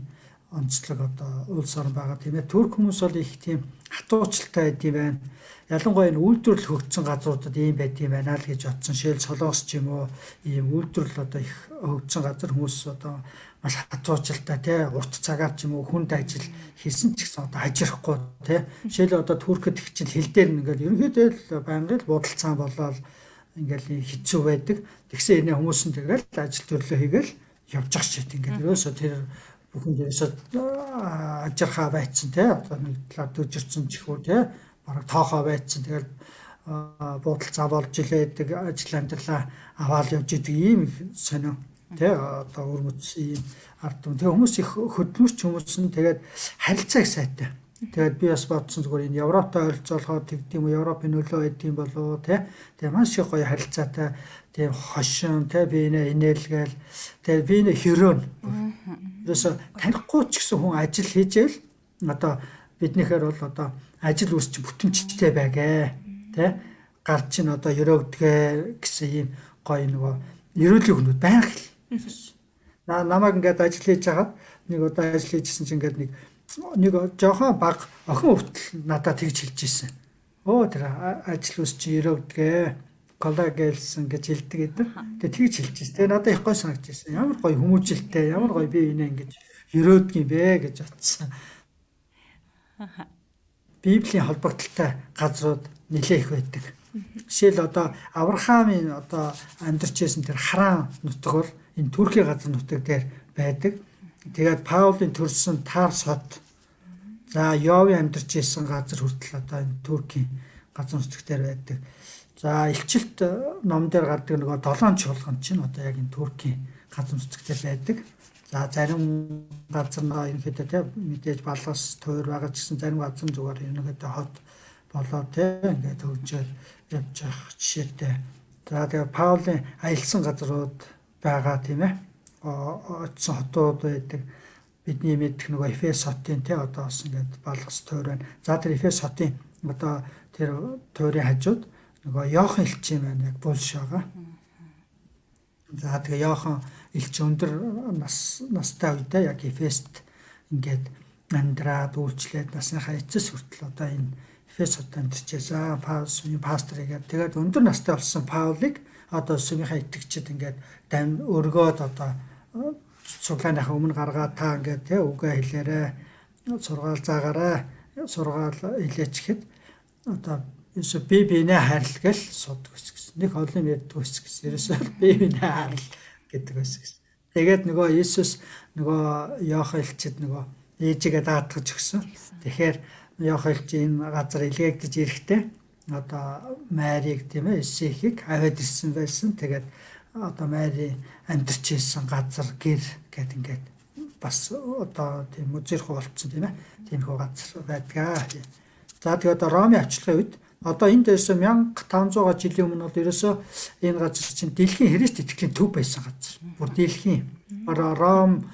онцлог одоо улс орн байгаа тийм ээ. Турк хүмүүс бол их тийм хатуучилтай байд юм байна. Ялангуяа энэ үйлдвэрлэл хөгжсөн газруудад ийм байд юм байна л гэж бодсон. Шил Солонгос ч юм уу ийм үйлдвэрлэл одоо их хөгжсөн газар хүмүүс одоо маш хатуучилтай тий урт цагаар ч юм уу хүнд ажил хийсэн ч гэсэн одоо ажирахгүй тий. Шил одоо Туркэд их чинь хил дээр ингээд ерөнхийдөө л байнгын буудалцаан болоод ингээл хэцүү байдаг. Тэгсэн энэ хүмүүс нь тэгэл ажил төрлөө хийгээл явж ах шít ингээд ерөөсөө тэр бүхэн дээрээс ажирхаа байцсан тий одоо нэг талаар дөжирцэн чихүү тий бараг тоохоо байцсан тэгэл буудалцаа болж илээдэг ажил амьдралаа аваад явж идэг ийм сонио тий одоо өрмөц ийм ард түмэн тэг хүмүүс их хөдөлмөрч хүмүүс нь тэгээд харилцаа их сайтай. Тэгээд би бас бодсон зүгээр энэ Европтой ойролцоолоход тэгдэм үү Европын нөлөө өгдөм болоо тий тэгээд маш их гоё харилцаатай тийм хошин тий биенээ инээлгээл тэгээд биенээ хөрөөн ерөөсө танихгүй ч гэсэн хүн ажил хийжээл одоо биднийхээр бол одоо ажил үс чи бүтэмжтэй байгээ тий гар чинь одоо өрөөгдгээ гэсэн ийм гоё нөгөө ерөөлийн хүмүүс байх л на намайг ингээд ажил хийж хагаад нэг удаа ажил хийжсэн чинь ингээд нэг нэг жоохон баг охин хүртэл надад тэгж хэлж ирсэн. Оо тэр ажил үс чи өрөөгдгээ коллагэлсэн гэж хэлдэг гэдэг. Тэгээ тэгж хэлж ирсэн. Тэгээ надад их гой санагдаж ирсэн. Ямар гоё хүмүүжлтэй, ямар гоё би энэ ингэж өрөөдөг юм бэ гэж бодсон. Библийн холбогдлолтой газрууд нэлээ их байдаг. Жишээл одоо Авраамийн одоо амьдарч байсан тэр Харан нутаг бол энэ Туркийн газар нутаг дээр байдаг. Тэгээд Паулын төрсэн Тарс хот. За Йовын амьдарч байсан газар хүртэл одоо энэ Туркийн газар нутаг дээр байдаг. За илчилт ном дээр гардаг нөгөө долоон чуулган чинь одоо яг энэ Туркийн газар нутаг дээр байдаг. За зарим газар нь ерөнхийдөө тийм мэдээж балгас тойр байгаа ч гэсэн зарим газар зүгээр ерөнхийдөө хот болоо тийм ингээд хөгжөөл явж явах жишээтэй. За тэгээ Паулийн аялсан газрууд байгаа тийм ээ. Очсон хотууд байдаг. Бидний мэдэх нөгөө Эфес хотын тий одоо бас ингээд балгас тойр байна. За тэр Эфес хотын одоо тэр тойрын хажууд нөгөө Йохан элч юм байна яг булш байгаа. За тэгээ Йохан элч өндөр нас настай үедээ яг Эфест ингээд амьдраад үйлчлээд насныхаа эцэс хүртэл одоо энэ Эфес хотод амьдарчээсаа Паулын пастор игээд тэгээд өндөр настай болсон Паулыг одоо сүмийнхаа итгэгчид ингээд дан өргөөд одоо цуглааныхаа өмнө гаргаад та ингээд тий үгээ хэлээрэ сургаал заагаарай сургаал хэлээч гэхэд одоо ерөөсө би бинээ хайрлагал судг гэсэн. Нэг олон ярьдаг ус гэсэн. Ерөөсө би бинээ хайрлал гэдэг ус гэсэн. Тэгээд нөгөө Иесус нөгөө Йохан элчид нөгөө ээжигээ даатгаж өгсөн. Тэгэхээр Йохан элч энэ газар илгээгдэж ирэхдээ одоо Марийг тийм ээ Исихийг аваад ирсэн байсан. Тэгээд одоо Мари амьдарч ирсэн газар гэр гэд ингээд бас одоо тийм үзэрх болцсон тийм ээ. Тиймхүү газар байдгаа. За тэгээд одоо Ромын авчлагын үед одоо энэ дэс мянга таван зуун жилийн өмнө бол ерөөсөө энэ газар чинь дэлхийн Христ итгэлийн төв байсан газар. Бүр дэлхийн Ром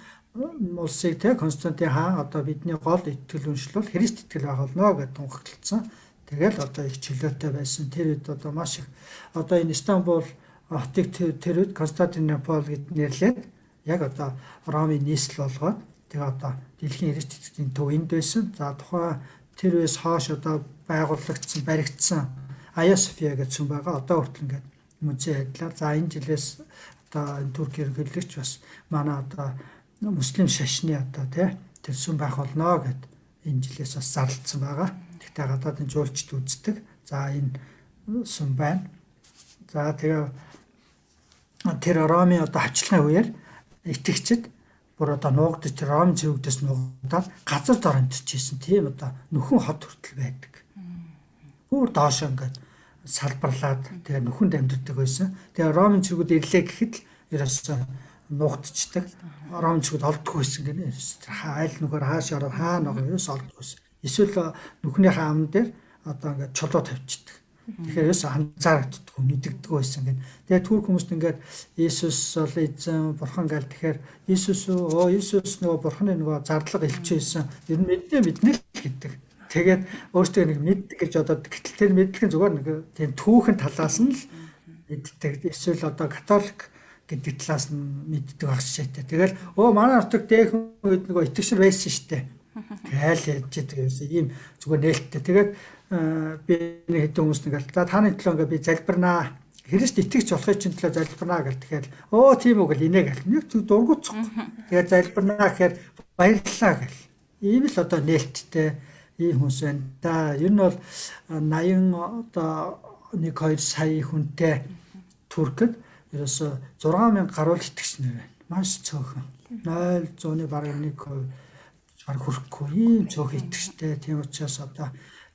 улсыг те Константин хаан одоо бидний гол итгэл үншил бол Христ итгэл байх болно гэж тунхаглалцсан. Тэгэл одоо их чөлөөтэй байсан. Тэр үед одоо маш их одоо энэ Стамбул хотыг тэр үед Константинопол гэд нэрлээд яг одоо Ромын нийслэл болгоод тэгээ одоо дэлхийн Христ итгэлийн төв энд байсан. За тухайн тэр үеэс хойш одоо байгуулагдсан, баригдсан Ая София гэж сүм байгаа. Одоо хүртэл ингээд музей адилаар. За энэ жилээс одоо энэ Турк ерөнхийлөгч бас манай одоо муслим шашны одоо тий тэр сүм байх болно гэд энэ жилээс бас зарлцсан байгаа. Тэгтээ гадаадын жуулчд үздэг. За энэ сүм байна. За тэгээ тэр Ромын одоо хавчлагын үеэр итгэгчид бүр одоо нуугдаж Ром зэрэгдээс нуугдаад газар дор амьдчихсэн тийм одоо нөхөн хот хүртэл байдаг. Бүр доош ингээд салбарлаад тэгээ нөхөнд амьддаг байсан. Тэгээ Ромын зэрэгүүд ирлээ гэхэд л ерөөсөө нуугдчихдаг. Ромын зэрэгүүд олддог байсан гэнэ. Айл нөхөр хааш ороод хаана байгаа ерөөсөө олддог байсан. Эсвэл нөхнийхээ ам дээр одоо ингээд чулуу тавьчихдаг. Тэгэхээр ерөөсөө анзаарагддаг, мэддэг байсан гэнэ. Тэгээ Турк хүмүүст ингээд Иесус бол эзэн бурхан гал тэгэхээр Иесус оо Иесус нөгөө бурханы нөгөө зарлага илчээсэн. Ер нь мэдээ мэднэ л гэдэг. Тэгээд өөртөө нэг мэддэг гэж бодоод гэтэл тэр мэдлэг нь зүгээр нэг тийм түүхэн талаас нь л мэддэг. Эсвэл одоо католик гэдэг талаас нь мэддэг байх шийдтэй. Тэгэл өө манай нутаг дээхэн үед нөгөө итгэгчэр байсан штэ. Тэгэл ярьж идэг юмсан ийм зүгээр нээлттэй. Тэгээд би нэг хэдэн хүмүүс нэгэл за таны төлөө ингээ би залбирнаа. Христ итгэж болохын чинь төлөө залбирнаа гэл тэгэхээр өө тийм үг л инээ гэл. Нэг зүг дургуцсан. Тэгээд залбирнаа гэхээр баярлалаа гэл. Ийм л одоо нээлттэй ийм хүмүүс байна. Да ер нь бол наян одоо нэг хоёр сая хүнтэй Туркд ерөөсө зургаан мянга гаруй итгэгч нэр байна. Маш цөөхөн. нуль зуун бараг нэг хувь баг хүрэхгүй ийм цөөхөн итгэжтэй. Тийм учраас одоо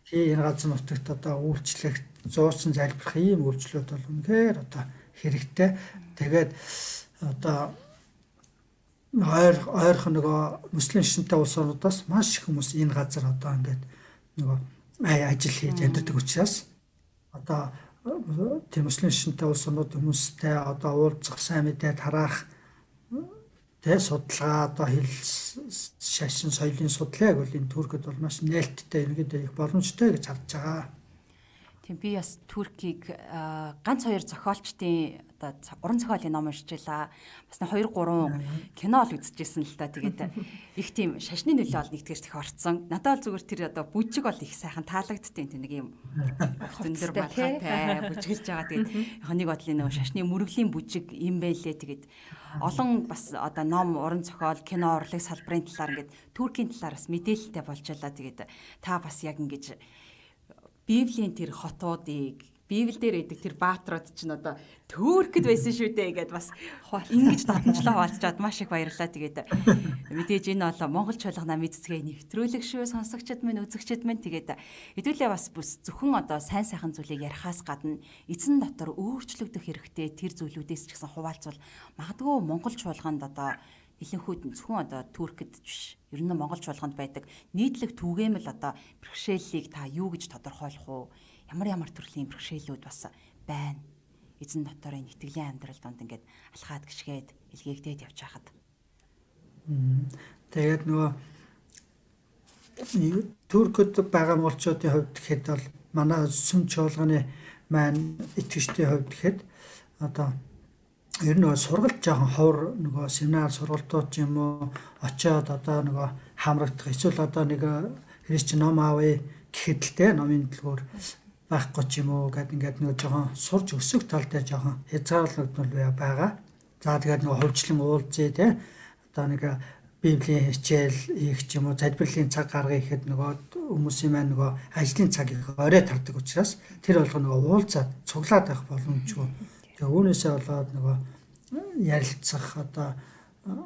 тий энэ газар нутагт одоо үйлчлэх зуучин залбирах ийм үйлчлүүд бол үнэхээр одоо хэрэгтэй. Тэгээд одоо ойр ойрхон нөгөө муслим шинтэй улс орнуудаас маш их хүмүүс энэ газар одоо ингээд нөгөө ажил хийж амьдардаг учраас одоо тийм муслим шинтэй улс орнууд хүмүүстэй одоо уулзах, сайн мэдээ тараах тэ судалгаа одоо хэл шашин соёлын судлааг бол энэ Туркид бол маш нээлттэй иргэд их боломжтой гэж харж байгаа. Тийм би бас Туркийг ганц хоёр зохиолчдын одоо уран зохиолын ном уншижлаа. Бас нэг хоёр гурван кино л үзчихсэн л та. Тэгээд их тийм шашны нөлөө ол нэгтгэж их орцсон. Надад бол зүгээр тэр одоо бүжиг бол их сайхан таалагдтiin тийм нэг юм өндөр балхаатай бүжгэлж байгаа. Тэгээд яг нэг бодлын нөгөө шашны мөрөглийн бүжиг юм байлээ. Тэгээд олон бас одоо ном, уран зохиол, кино, урлаг салбарын талаар ингээд Туркийн талаар бас мэдээлэлтэй болж байлаа. Тэгээд та бас яг ингэж Библийн тэр хотуудыг Библиэл дээр идэг тэр баатрууд чинь одоо Туркид байсан шүү дээ гэдээ бас ингэж дадамжлаа хуваалцаад маш их баярлалаа. Тэгээд мэдээж энэ бол Монгол чуулгана мэдцгээ нэвтрүүлэг шүү сонсогчд минь үзэгчд минь тэгээд хэдүүлээ бас бүс зөвхөн одоо сайн сайхан зүйлийг ярихаас гадна эзэн дотор өөрчлөгдөх хэрэгтэй тэр зүйлүүдээс ч гэсэн хуваалцвал магадгүй Монгол чуулганд одоо Илэнхүйд зөвхөн одоо Туркид биш. Ер нь Монгол чуулганд байдаг нийтлэг түгээмэл одоо бэрхшээллийг та юу гэж тодорхойлох уу? Ямар ямар төрлийн бэрхшээлүүд бас байна. Эзэн дотор энэ итгэлийн амьдрал донд ингээд алхаад гიშгээд илгээгдээд явж хахад. Тэгээд нөгөө Туркид байгаа монголчуудын хувьд гэхэд бол манай сүм чуулганы маань итгэжтийн хувьд гэхэд одоо ер нь сургалт жоохон ховор нөгөө семинар сургалтууд юм уу очиод одоо нөгөө хамрагдах эсвэл одоо нэг христч ном аавь гэхэд л те номын дэлгүүр байхгүй ч юм уу гэдэг ингээд нөгөө жоохон сурж өсөх тал дээр жоохон хязгаарлагдмал байгаа. За тэгээд нөгөө хувьчлан уулзъя те одоо нэг библийн хичээл хийх ч юм уу залбирлын цаг гаргая гэхэд нөгөө хүмүүсийн маань нөгөө ажлын цаг их орой тардаг учраас тэр болгоо нөгөө уулзаад цуглаад байх боломжгүй. Тэгээ үүнээсээ болоод нөгөө ярилцах одоо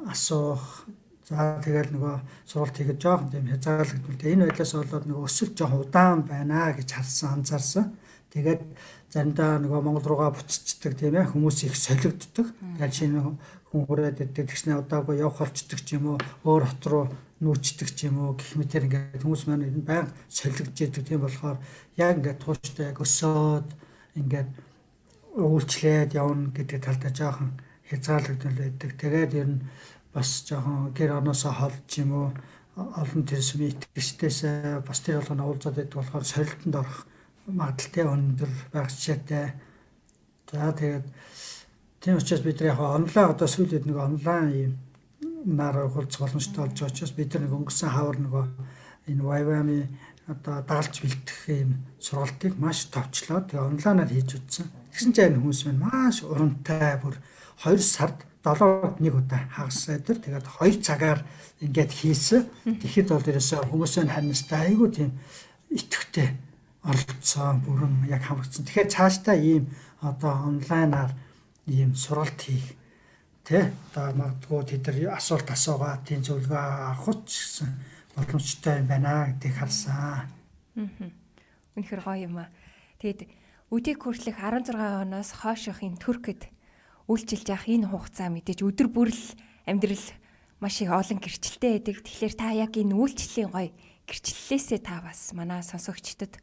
асуух за тэгэл нөгөө сургалт хийхэд жоохон тийм хязгаарлагдмал. Энэ байдлаас болоод нөгөө өсөлт жоохон удаан байна гэж харсан анзаарсан. Тэгээд заримдаа нөгөө Монгол руугаа буцчихдаг тийм ээ хүмүүс их солигддог. Тэгэл шинэ хүн хүрээд ирдэг тэгснэ удаагүй явах болчдөг ч юм уу өөр хот руу нүүчдэг ч юм уу гэх мэтэр ингээд хүмүүс маань баян солигдж идэг тийм болохоор яг ингээд тууштай яг өсөөд ингээд үйлчлээд явна гэдэг талдаа жоохон хязгаарлагдмал байдаг. Тэгээд ер нь бас жоохон гэр орноосоо холж юм уу олон тэрсмийн итгэжтэйс бас тэр болгоно уулзаад байдаг болохоор солилтонд орох магадaltaй өндөр байх жишээтэй. За тэгээд тийм учраас бид яг онлайн одоо сүүлийн нэг онлайн юм нар уулзах боломжтой болж байгаа учраас бид нэг өнгөрсөн хавар нөгөө энэ Вайвами одоо дагалж бэлтгэх юм сургалтыг маш товчлоод тэгээ онлайнаар хийж үзсэн. Тэгсэн чинь хүмүүс маань маш урамтай бүр хоёр сард долоод нэг удаа хагас өдөр тэгээд хоёр цагаар ингээд хийсэн. Тэгэхэд бол ерөөсөө хүмүүсийн харнастай айгүй тийм итгэвтэй оролцсон бүрэн яг хамрагдсан. Тэгэхээр цаашдаа ийм одоо онлайнаар ийм сургалт хийх тэ одоо магадгүй тэд нар асуулт асуугаад тийм зөвлөгөө авах ч гэсэн боломжтой юм байна гэдгийг харсан. Аа. Үнэхээр гоё юм аа. Тэгэд өдийг хүртэлх арван зургаан оноос хойших энэ Туркид үйлчилж явах энэ хугацаа мэдээж өдөр бүрл амьдрал маш их олон гэрчлэлтэй байдаг. Тэгэхээр та яг энэ үйлчлэлийн гоё гэрчлэлээсээ та бас манай сонсогчдод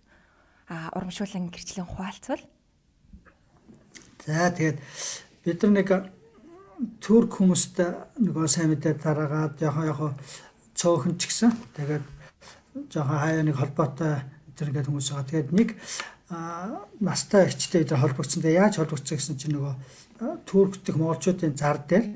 а урамшуулан гэрчлэн хуваалцвал. За тэгээд бид нар нэг Турк хүмүүстэй нөгөө сайн мэдээ дараагаад яг яг цөөхөн ч гэсэн тэгээд жоохон хаяа нэг холбоотой тэр ингээд хүмүүс байгаа. Тэгээд нэг настай эгчтэй дээр холбогдсон. Тэгээ яаж холбогдсон гэсэн чинь нөгөө Турк дэх монголчуудын зар дээр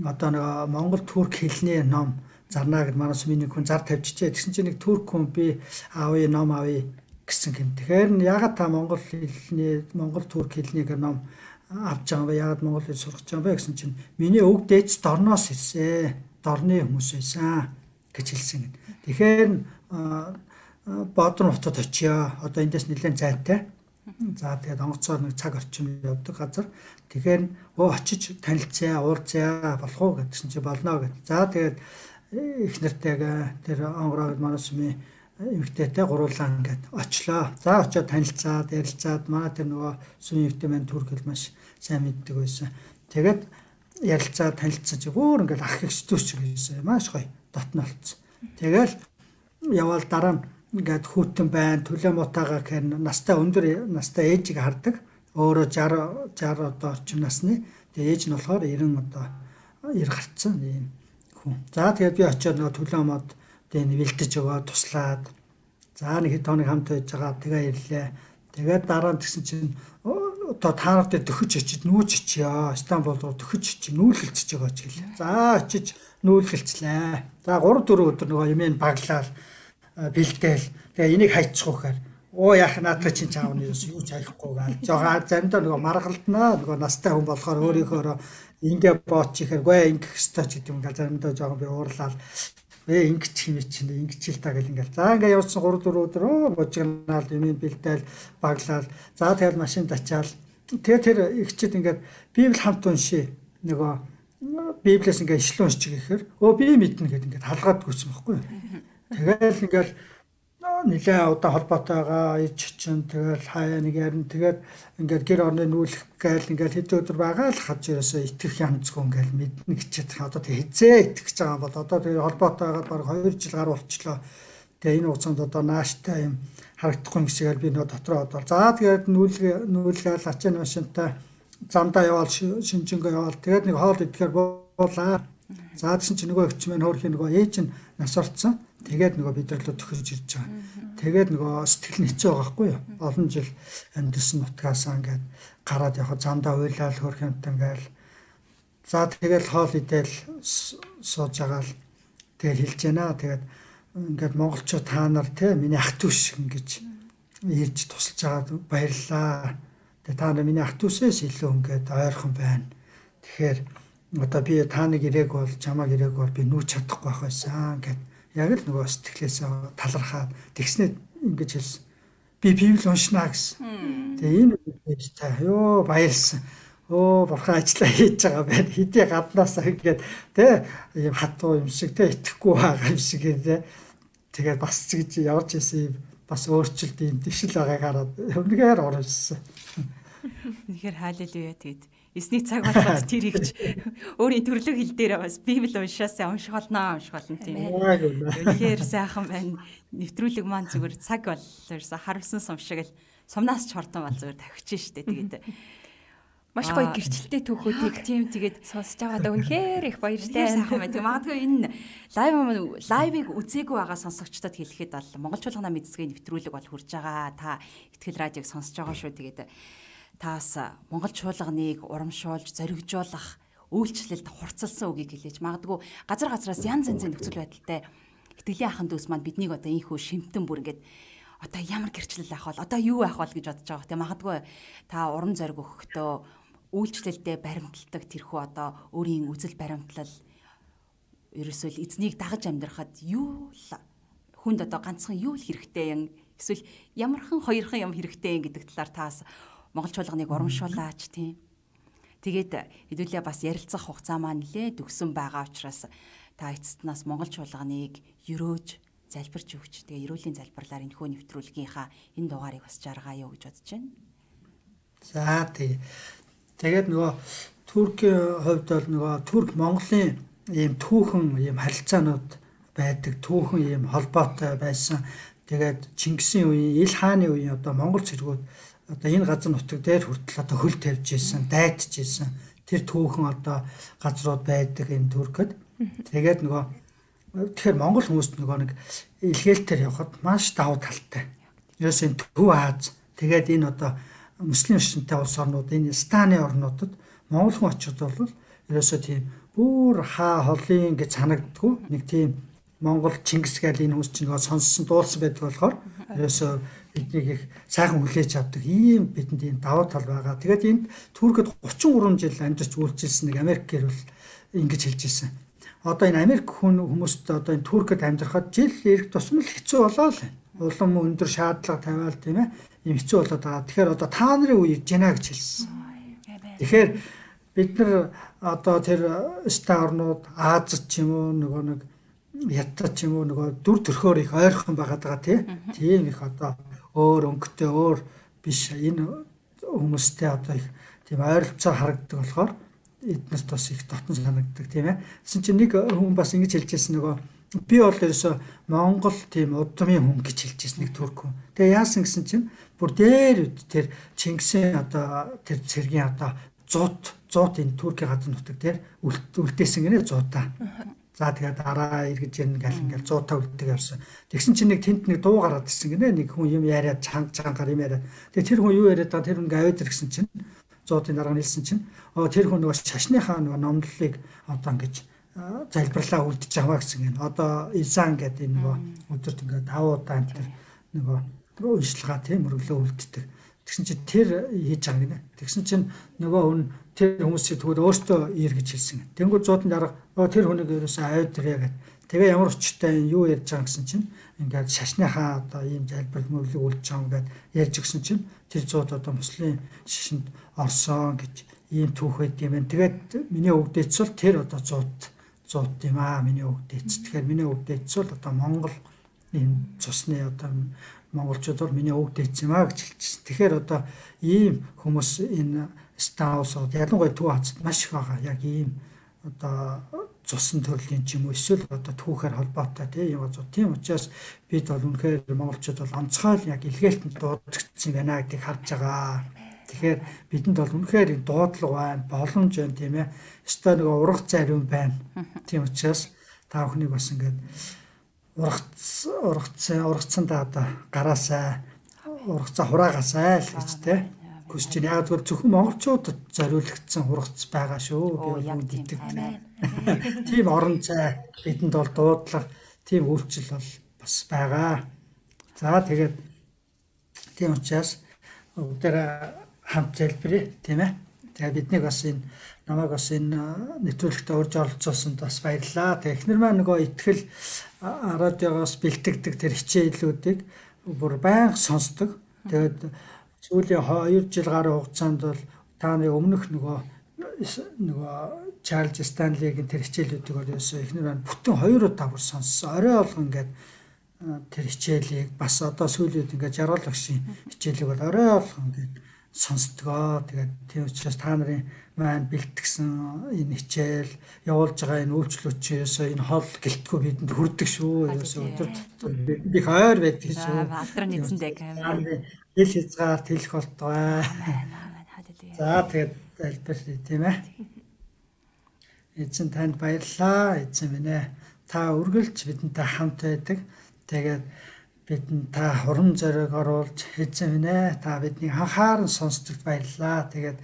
одоо нөгөө монгол турк хэлний ном зарнаа гэд манаас миний хүн зар тавьчихжээ. Тэгсэн чинь нэг турк хүн би аавын ном авъя гэсэн юм. Тэгэхээр ягаад та монгол хэлний монгол турк хэлний ном авч байгаа вэ? Ягаад монгол хэл сурах гэж байгаа вэ гэсэн чинь миний өвг дээдс дорноос ирсэн. Дорны хүмүүс байсан гэж хэлсэн юм. Тэгэхээр Баатар хотод очиё. Одоо эндээс нэлээд зайтай. За тэгээд онгоцоор нэг цаг орчим явдаг газар. Тэгэхээр өө очиж танилцъя, уулзъя болох уу гэдгсэн чи болно гэд. За тэгээд их нартайгаа тэр онгороо манаас ми эмэгтэйтэй гуруулаа ингээд очлоо. За очиод танилцаад, ярилцаад манай тэр нөгөө сүм эмэгтэй маань турк хэл маш сайн мэддэг байсан. Тэгээд ярилцаад танилцсан чи бүр ингээд ах их зүсч гэсэн маш гоё дотно болцсон. Тэгэл явал дараа нь ингээд хүүтэн байна, төлөө мутаага гэх настай өндөр настай ээжийг хардаг. Өөрөө шейх шейх одоо орчим насны. Тэгээ ээж нь болохоор ерөн одоо ир гарцсан юм хүн. За тэгээд би очиод нөгөө төлөө мод тэгээд бэлдэж өгөө туслаад. За нэг хэд хоног хамт байж байгаа. Тэгээ ирлээ. Тэгээд дараа нь тэгсэн чинь одоо та нарт төхөж очиж нүүж очиё. Стамбул руу төхөж очиж нүүлгэлцэж байгаа ч гэлээ. За очиж нүүлгэлцлээ. За гурав дөрөв өдөр нөгөө юмэн баглаад бэлдээл. Тэгээ энийг хайчих ухаар оо яах наадах чинь чаавны юу ч хайхгүй гаал. Жохоо заримдаа нөгөө маргалтнаа нөгөө настай хүн болохоор өөрийнхөө ингээ бооч ихээр ингээ хэвээр ч гэдэг юм гээл заримдаа жоохон би уурлаад ээ ингээ ч юм чинь ингээ ч л та гэл ингээл. За ингээ явуулсан гурав дөрөв өдөр оо божигнаал юмэн бэлдээл баглаад. За тэгэл машинд ачаал. Тэгээ тэр ихчэд ингээд Библи хамт уншия. Нөгөө Библиэс ингээ ишлэн уншчих гэхээр өө би мэднэ гэдэг ингээд халгаад гүйсэн байхгүй. Тэгэл ингээл нэлээ удаа холбоотойгоо ич чинь тэгэл хаяа нэг ярин тэгээд ингээд гэр орны нүүлэх гээл ингээд хэд өдөр байгаа л хаж ерөөсөө итгэх янзгүй ингээд мэднэ гэчихэд одоо тэг хизээ итгэж байгаа бол одоо тэг холбоотойгоо баг хоёр жил гар болчлоо. Тэгээ энэ хугацаанд одоо нааштай юм харагдахгүй юм шигээр би нөө дотроо бодвол за тэгээд нүүлгээ нүүлгээл ачааны машинтай замдаа яваал шинжэнгөө яваал тэгээд нэг хоол идэхээр буулаа. За тэгсэн чинь нөгөө өвч маань хөөрхийн нөгөө ээж нь нас орцсон. Тэгээд нөгөө бидрэлөө төхөж ирж байгаа. Тэгээд нөгөө сэтгэл нь хэцүү байгаа хгүй юу? Олон жил амьдсан нутгаасаа ингээд гараад явах замдаа уйлал хөрх юмтай ингээл. За тэгэл хоол идэл сууж байгаа л тэгэл хэлж байна. Тэгээд ингээд монголчууд та нар те миний ах дүү шиг ингэж ирж тусалж байгаад баярлалаа. Тэгээд та нар миний ах дүүсээс илүү ингээд ойрхон байна. Тэгэхээр одоо би та нэг ирээг бол чамаг ирээг бол би нүүч чадахгүй байх байсан гэд. Яг л нөгөө сэтгэлээсээ талархаад тэгснээр ингэж хэлсэн. Би Библи уншнаа гэсэн. Тэгээ энэ үгээс та ёо баярлсан. Өө бурхан ажиллаа хийж байгаа байна. Хэдий гаднаасаа ингээд тэ юм хатуу юм шиг тэ итгэхгүй байгаа юм шиг ээ. Тэгээд бас ч гэж явж исэн юм бас өөрчлөлт юм дэвшил байгааг хараад өмнөгээр оруулсан. Үнэхээр хаалелуя тэгээд эсний цаг болгоод тэр ихч өөрийн төрлөг хэл дээр бас Библи уншаасаа унших болно унших болно тийм. Үнэхээр сайхан байна. Нэвтрүүлэг маань зүгээр цаг боллоорса харамсан сум шиг л сумнаас ч хордон бол зүгээр тавьчих штэ тэгээд маш гоё гэрчлэлтэй түүхүүдийг тийм тэгээд сонсож байгаадаа үнэхээр их баяртай сайхан байна. Тэгээд магадгүй энэ лайв лайвыг үзээгүй байгаа сонсогчдод хэлэхэд бол Монголчуулгана мэдсгийн нэвтрүүлэг бол хүрж байгаа. Та Итгэл радиог сонсож байгаа шүү. Тэгээд таас Монгол чуулганыг урамшуулж зоригжуулах үйлчлэлд хурцлсан үгийг хэлээж магадгүй газар газраас янз янзын нөхцөл байдалтай итгэлийн ахын дүүс маань биднийг одоо ийхүү шимтэн бүр ингээд одоо ямар гэрчлэл авах бол одоо юу авах бол гэж бодож байгаа. Тэг магадгүй та урам зориг өгөхдөө үйлчлэлдээ баримталдаг тэрхүү одоо өөрийн үзэл баримтлал ерөөсөө эзнийг дагаж амьдрахад юу л хүнд одоо ганцхан юу л хэрэгтэй юм эсвэл ямархан хоёрхан юм хэрэгтэй юм гэдэг талаар таас Монгол чуулганыг урамшуулаач тийм. Тэгээд хэдүүлээ бас ярилцах хугацаа маань нэлээд өгсөн байгаа учраас та эцэстнаас Монгол чуулганыг өрөөж залбирч өгч тэгээ эрүүлийн залбирлаар энэ хөө нэвтрүүлгийнхаа энэ дугаарыг бас жаргая юу гэж бодож байна. За тий. Тэгээд нөгөө Туркийн хувьд бол нөгөө Турк Монголын ийм түүхэн ийм харилцаанууд байдаг, түүхэн ийм холбоотой байсан. Тэгээд Чингисийн үеийн Ил хааны үеийн одоо Монгол цэргүүд одоо энэ газар нутаг дээр хүртэл одоо хөл тавьж ийсэн, дайдж ийсэн. Тэр түүхэн одоо газрууд байдаг энэ Туркэд. Тэгээд нөгөө тэгэхээр Монгол хүмүүст нөгөө нэг илгээлтээр явхад маш давуу талтай. Ерөөс энэ Төв Аз, Тэгээд энэ одоо муслим шашинтай улс орнууд энэ станы орнуудад монгол хүн очиод бол ерөөсөө тийм бүр хаа холын гэж санагддгүй нэг тийм Монгол Чингис гээл энэ хүмүүс чинь нөгөө сонссон дуулсан байдаг болохоор ерөөсөө биднийг их сайхан хүлээж авдаг ийм бидэнд ийм давуу тал байгаа. Тэгээд энд Туркид гучин гурван жил амьдарч үйлчилсэн нэг Америк гэрэл ингэж хэлж ирсэн. Одоо энэ Америк хүн хүмүүст одоо энэ Туркид амьдрахад жил ирэх тусмал хэцүү болоо л. Улам өндөр шаардлага тавиал тийм ээ. Ийм хэцүү болоод байгаа. Тэгэхээр одоо та нарын үеийг жинаа гэж хэлсэн. Тэгэхээр бид нар одоо тэр ста орнууд Азад ч юм уу нөгөө нэг Ятад ч юм уу нөгөө дүр төрхөөр их ойрхон байгаад байгаа тийм их одоо өөр өнгөтэй өөр биш энэ хүмүүстэй одоо их тийм ойролцоо харагддаг болохоор эднэрт бас их дотн санагддаг тийм ээ. Тэсэн чинь нэг хүн бас ингэж хэлжсэн нөгөө би бол ерөөсө Монгол тийм удмын хүн гэж хэлжсэн нэг турк хүн. Тэгээ яасан гэсэн чинь бүр дээр тэр Чингисийн одоо тэр цэргийн одоо зуут зуут энэ Туркийн газар нутаг дээр үлдээсэн гинэ зуутаа. За тэгээд дараа эргэж ирнэ гэл ингээл зуутаа үлддэг явсан. Тэгсэн чинь нэг тэнд нэг дуу гараад ирсэн гинэ нэг хүн юм яриад чанга чангаар юм яриад. Тэгээд тэр хүн юу яриад байгаа тэр хүн аваад ирсэн чинь зуутын дараа нэлсэн чинь оо тэр хүн нөгөө шашныхаа нөгөө номлолыг одоо ингэж залбирлаа үлдэж аваа гэсэн юм. Одоо Изан гэдэг энэ нөгөө өдөрт ингээд тав удаа энэ нөгөө уншилгаа тийм мөрөглөө үлддэг. Тэгсэн чинь тэр хийж байгаа гинэ. Тэгсэн чинь нөгөө хүн тэр хүмүүсийг тэгвэл өөртөө ир гэж хэлсэн. Тэнгүүд зуудан дараа тэр хүнийг ерөөсөө аваад ирээ гэдэг. Тэгээ ямар өчтэй юу ярьж байгаа гэсэн чинь ингээд шашныхаа одоо ийм залбирал мөрлөг үлдэж байгаа ингээд ярьж өгсөн чинь тэр зууд одоо муслим шашинд орсон гэж ийм түүх байд юм байна. Тэгээд миний өвгдөөц бол тэр одоо зууд зууд юм аа миний өвгдөөц. Тэгэхээр миний өвгдөөц бол одоо Монгол энэ цусны одоо монголчууд бол миний өвгдөөц юм аа гэж хэлчихсэн. Тэгэхээр одоо ийм хүмүүс энэ стаусууд ялангуяа Төв хацад маш их байгаа. Яг ийм одоо цусан төрлийн ч юм уу эсвэл одоо түүхээр холбоотой тийм юм зүй. Тийм учраас бид бол үнэхээр монголчууд бол онцгой яг илгээлтэнд дуудагдсан байна гэдгийг харж байгаа. Тэгэхээр бидэнд бол үнэхээр дуудлага байна, боломж байна тийм ээ. Өстой нэг ургац ариун байна. Тийм учраас та бүхнийг бас ингээд ургац ургац ургацсандаа одоо гараасаа ургацаа хураагаасаа л гэж тийм хүсэж байна. Яг зөв зөвхөн монголчуудад зориулагдсан ургац байгаа шүү. Би яг итгэдэг. Тийм орон зай бидэнд бол дуудлага, тийм үйлчлэл бол бас байгаа. За тэгээд тийм учраас өдөр хамт залбирая тийм ээ. Тэгээд биднийг бас энэ намайг бас энэ нэвтрүүлэгтээ урьж оролцуулсанд бас баярлалаа. Тэгээд эхнэр маань нөгөө итгэл радиогоос бэлтгэдэг тэр хичээлүүдийг бүр байнга сонсдог. Тэгээд сүүлийн хоёр жил гаруй хугацаанд бол тааны өмнөх нөгөө нөгөө Чарльз Станлигийн тэр хичээлүүдийг бол ерөөсөө эхнэр маань бүтэн хоёр удаа бүр сонссон. Орой болгон ингээд тэр хичээлийг бас одоо сүүлийн үед ингээд жаргал багшийн хичээлийг бол орой болгон ингээд сонсдгоо. Тэгээд тийм учраас та нарын маань бэлтгэсэн энэ хичээл явуулж байгаа энэ үйлчлүүд чи ерөөсөө энэ хол гэлтгүй бидэнд хүрдэг шүү. Ерөөсөө өдөр би хойр байдаг шүү. Алдрын эзэндээ камер. Ил хязгаар тэлэх болтгоо. За тэгээд залбирая тийм ээ. Эзэн танд баярлалаа. Эзэн минь ээ. Та үргэлж бидэнтэй хамт байдаг. Тэгээд бидэнд та хурам зориг оруулж эзэн минь ээ. Та бидний анхааран сонсдогт баярлалаа. Тэгээд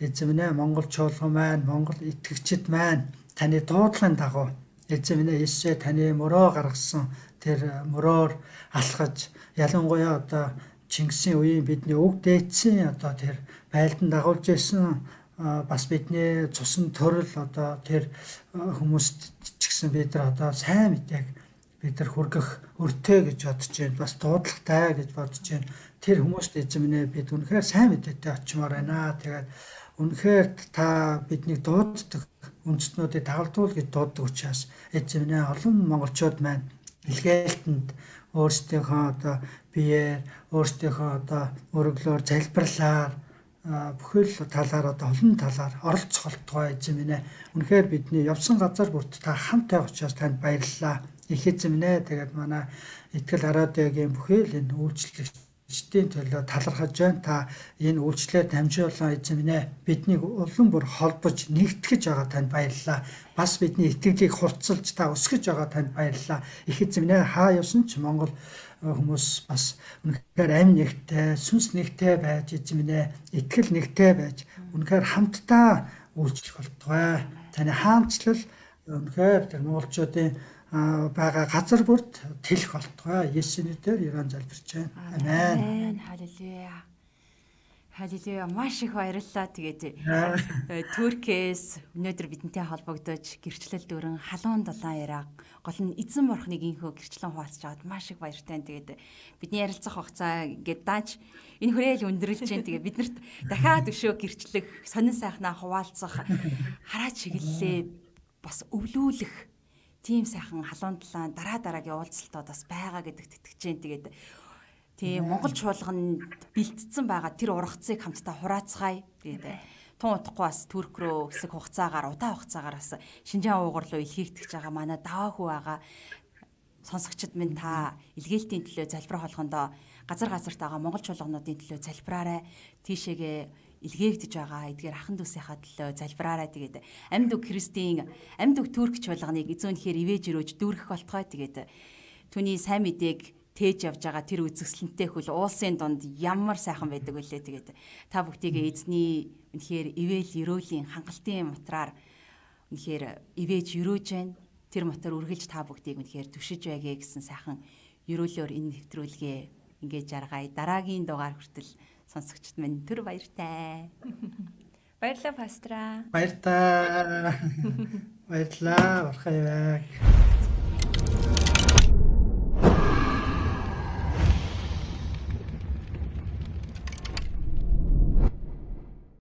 эзэн минь ээ Монгол чуулган маань, Монгол итгэгчид маань таны дуудлагын дагуу эзэн минь ээ Есүсээ таны мөрөө гаргасан тэр мөрөөр алхаж ялангуяа одоо Чингисийн үеийн бидний өг дээдсийн одоо тэр байлдан дагуулж байсан бас бидний цусан төрөл одоо тэр хүмүүст ч гэсэн бид нар одоо сайн мэдээг бид нар хүргэх өртөө гэж бодож байна. Бас дуудлагатай гэж бодож байна. Тэр хүмүүст эзэн минь ээ бид үнэхээр сайн мэдээтэй очимоор байна. Тэгээд үнэхээр та биднийг дууддаг үндэстнүүдийг дагалдуул гэж дууддаг учраас эзэн минь ээ олон монголчууд маань илгээлтэнд өөрсдийнхөө одоо биеэр өөрсдийнхөө одоо өргөлөөр залбирлаар бүхэл талаар одоо олон талаар оролцох болтугай эзэн минь ээ. Үнэхээр бидний явсан газар бүрт та хамттай учраас танд баярлалаа. Их эзэн минь ээ. Тэгээд манай итгэл радиогийн бүхэл энэ үйлчлэгчдийн төлөө талархаж байна. Та энэ үйлчлэлээр дамжуулан эзэн минь ээ биднийг улам бүр холбож нэгтгэж байгаа танд баярлалаа. Бас бидний итгэлийг хурцлж та өсгөж байгаа танд баярлалаа. Их эзэн минь ээ хаа явсан ч Монгол хүмүүс бас үнэхээр амь нэгтэй, сүнс нэгтэй байж эзэмнэ, итгэл нэгтэй байж үнэхээр хамтдаа үйлчлэх болтугай. Таны хаанчлал үнэхээр тэр монголчуудын байгаа газар бүрт тэлэх болтугай. Есүсийн нэрээр Иран залбирч байна. Амен. Халелуя. Халелуя. Маш их баярлалаа. Тэгээд Туркээс өнөөдөр бидэнтэй холбогдож гэрчлэл дөрөн халуун дулаан яриа гол нь эзэн бурхныг инхөө гэрчлэн хуваалцж аваад маш их баяртай. Тэгээд бидний ярилцах хугацаа ингээд дааж энэ хүрээл өндөрлж जैन. Тэгээд биднэрт дахиад өшөө гэрчлэх, сонин сайхнаа хуваалцах, хараа чиглэлээ бас өвлүүлэх тийм сайхан халуун дулаан дараа дараагийн уулзалтууд бас байгаа гэдэгт итгэж जैन. Тэгээд тийм Монгол чуулганд бэлтцсэн байгаа тэр ургацыг хамтдаа хураацгаая. Тэгээд тун утахгүй бас Турк руу хэсэг хугацаагаар удаан хугацаагаар бас Шинжаан уугур руу илгээгдэж байгаа манай даахүү байгаа сонсогчид минь та илгээлтийн төлөө залбирах болгондоо газар газарт байгаа Монгол чуулгануудын төлөө залбираарай. Тийшээгээ илгээгдэж байгаа эдгээр ахан дүүсийнхаа төлөө залбираарай. Тэгээд амьд үг Христийн амьд үг Турк чуулганыг эзүүнхээр ивэж өрөөж дүүргэх болтгой. Тэгээд түүний сайн мэдээг тээж явж байгаа тэр үзэсгэлэнтэй хөл уулсын дунд ямар сайхан байдаг вүлээ. Тэгээд та бүгдийгээ эзний үнэхээр ивэл өрөөлийн хангалтын матраар үнэхээр ивэж өрөөж байна. Тэр матар үргэлж та бүгдийг үнэхээр түшиж байгээ гэсэн сайхан өрөөлөөр энэ нэвтрүүлгээ ингээд жаргая. Дараагийн дугаар хүртэл сонсогчд минь түр баяртай. Баярлалаа пастра. Баяртай. Баярлалаа. Орхой байг.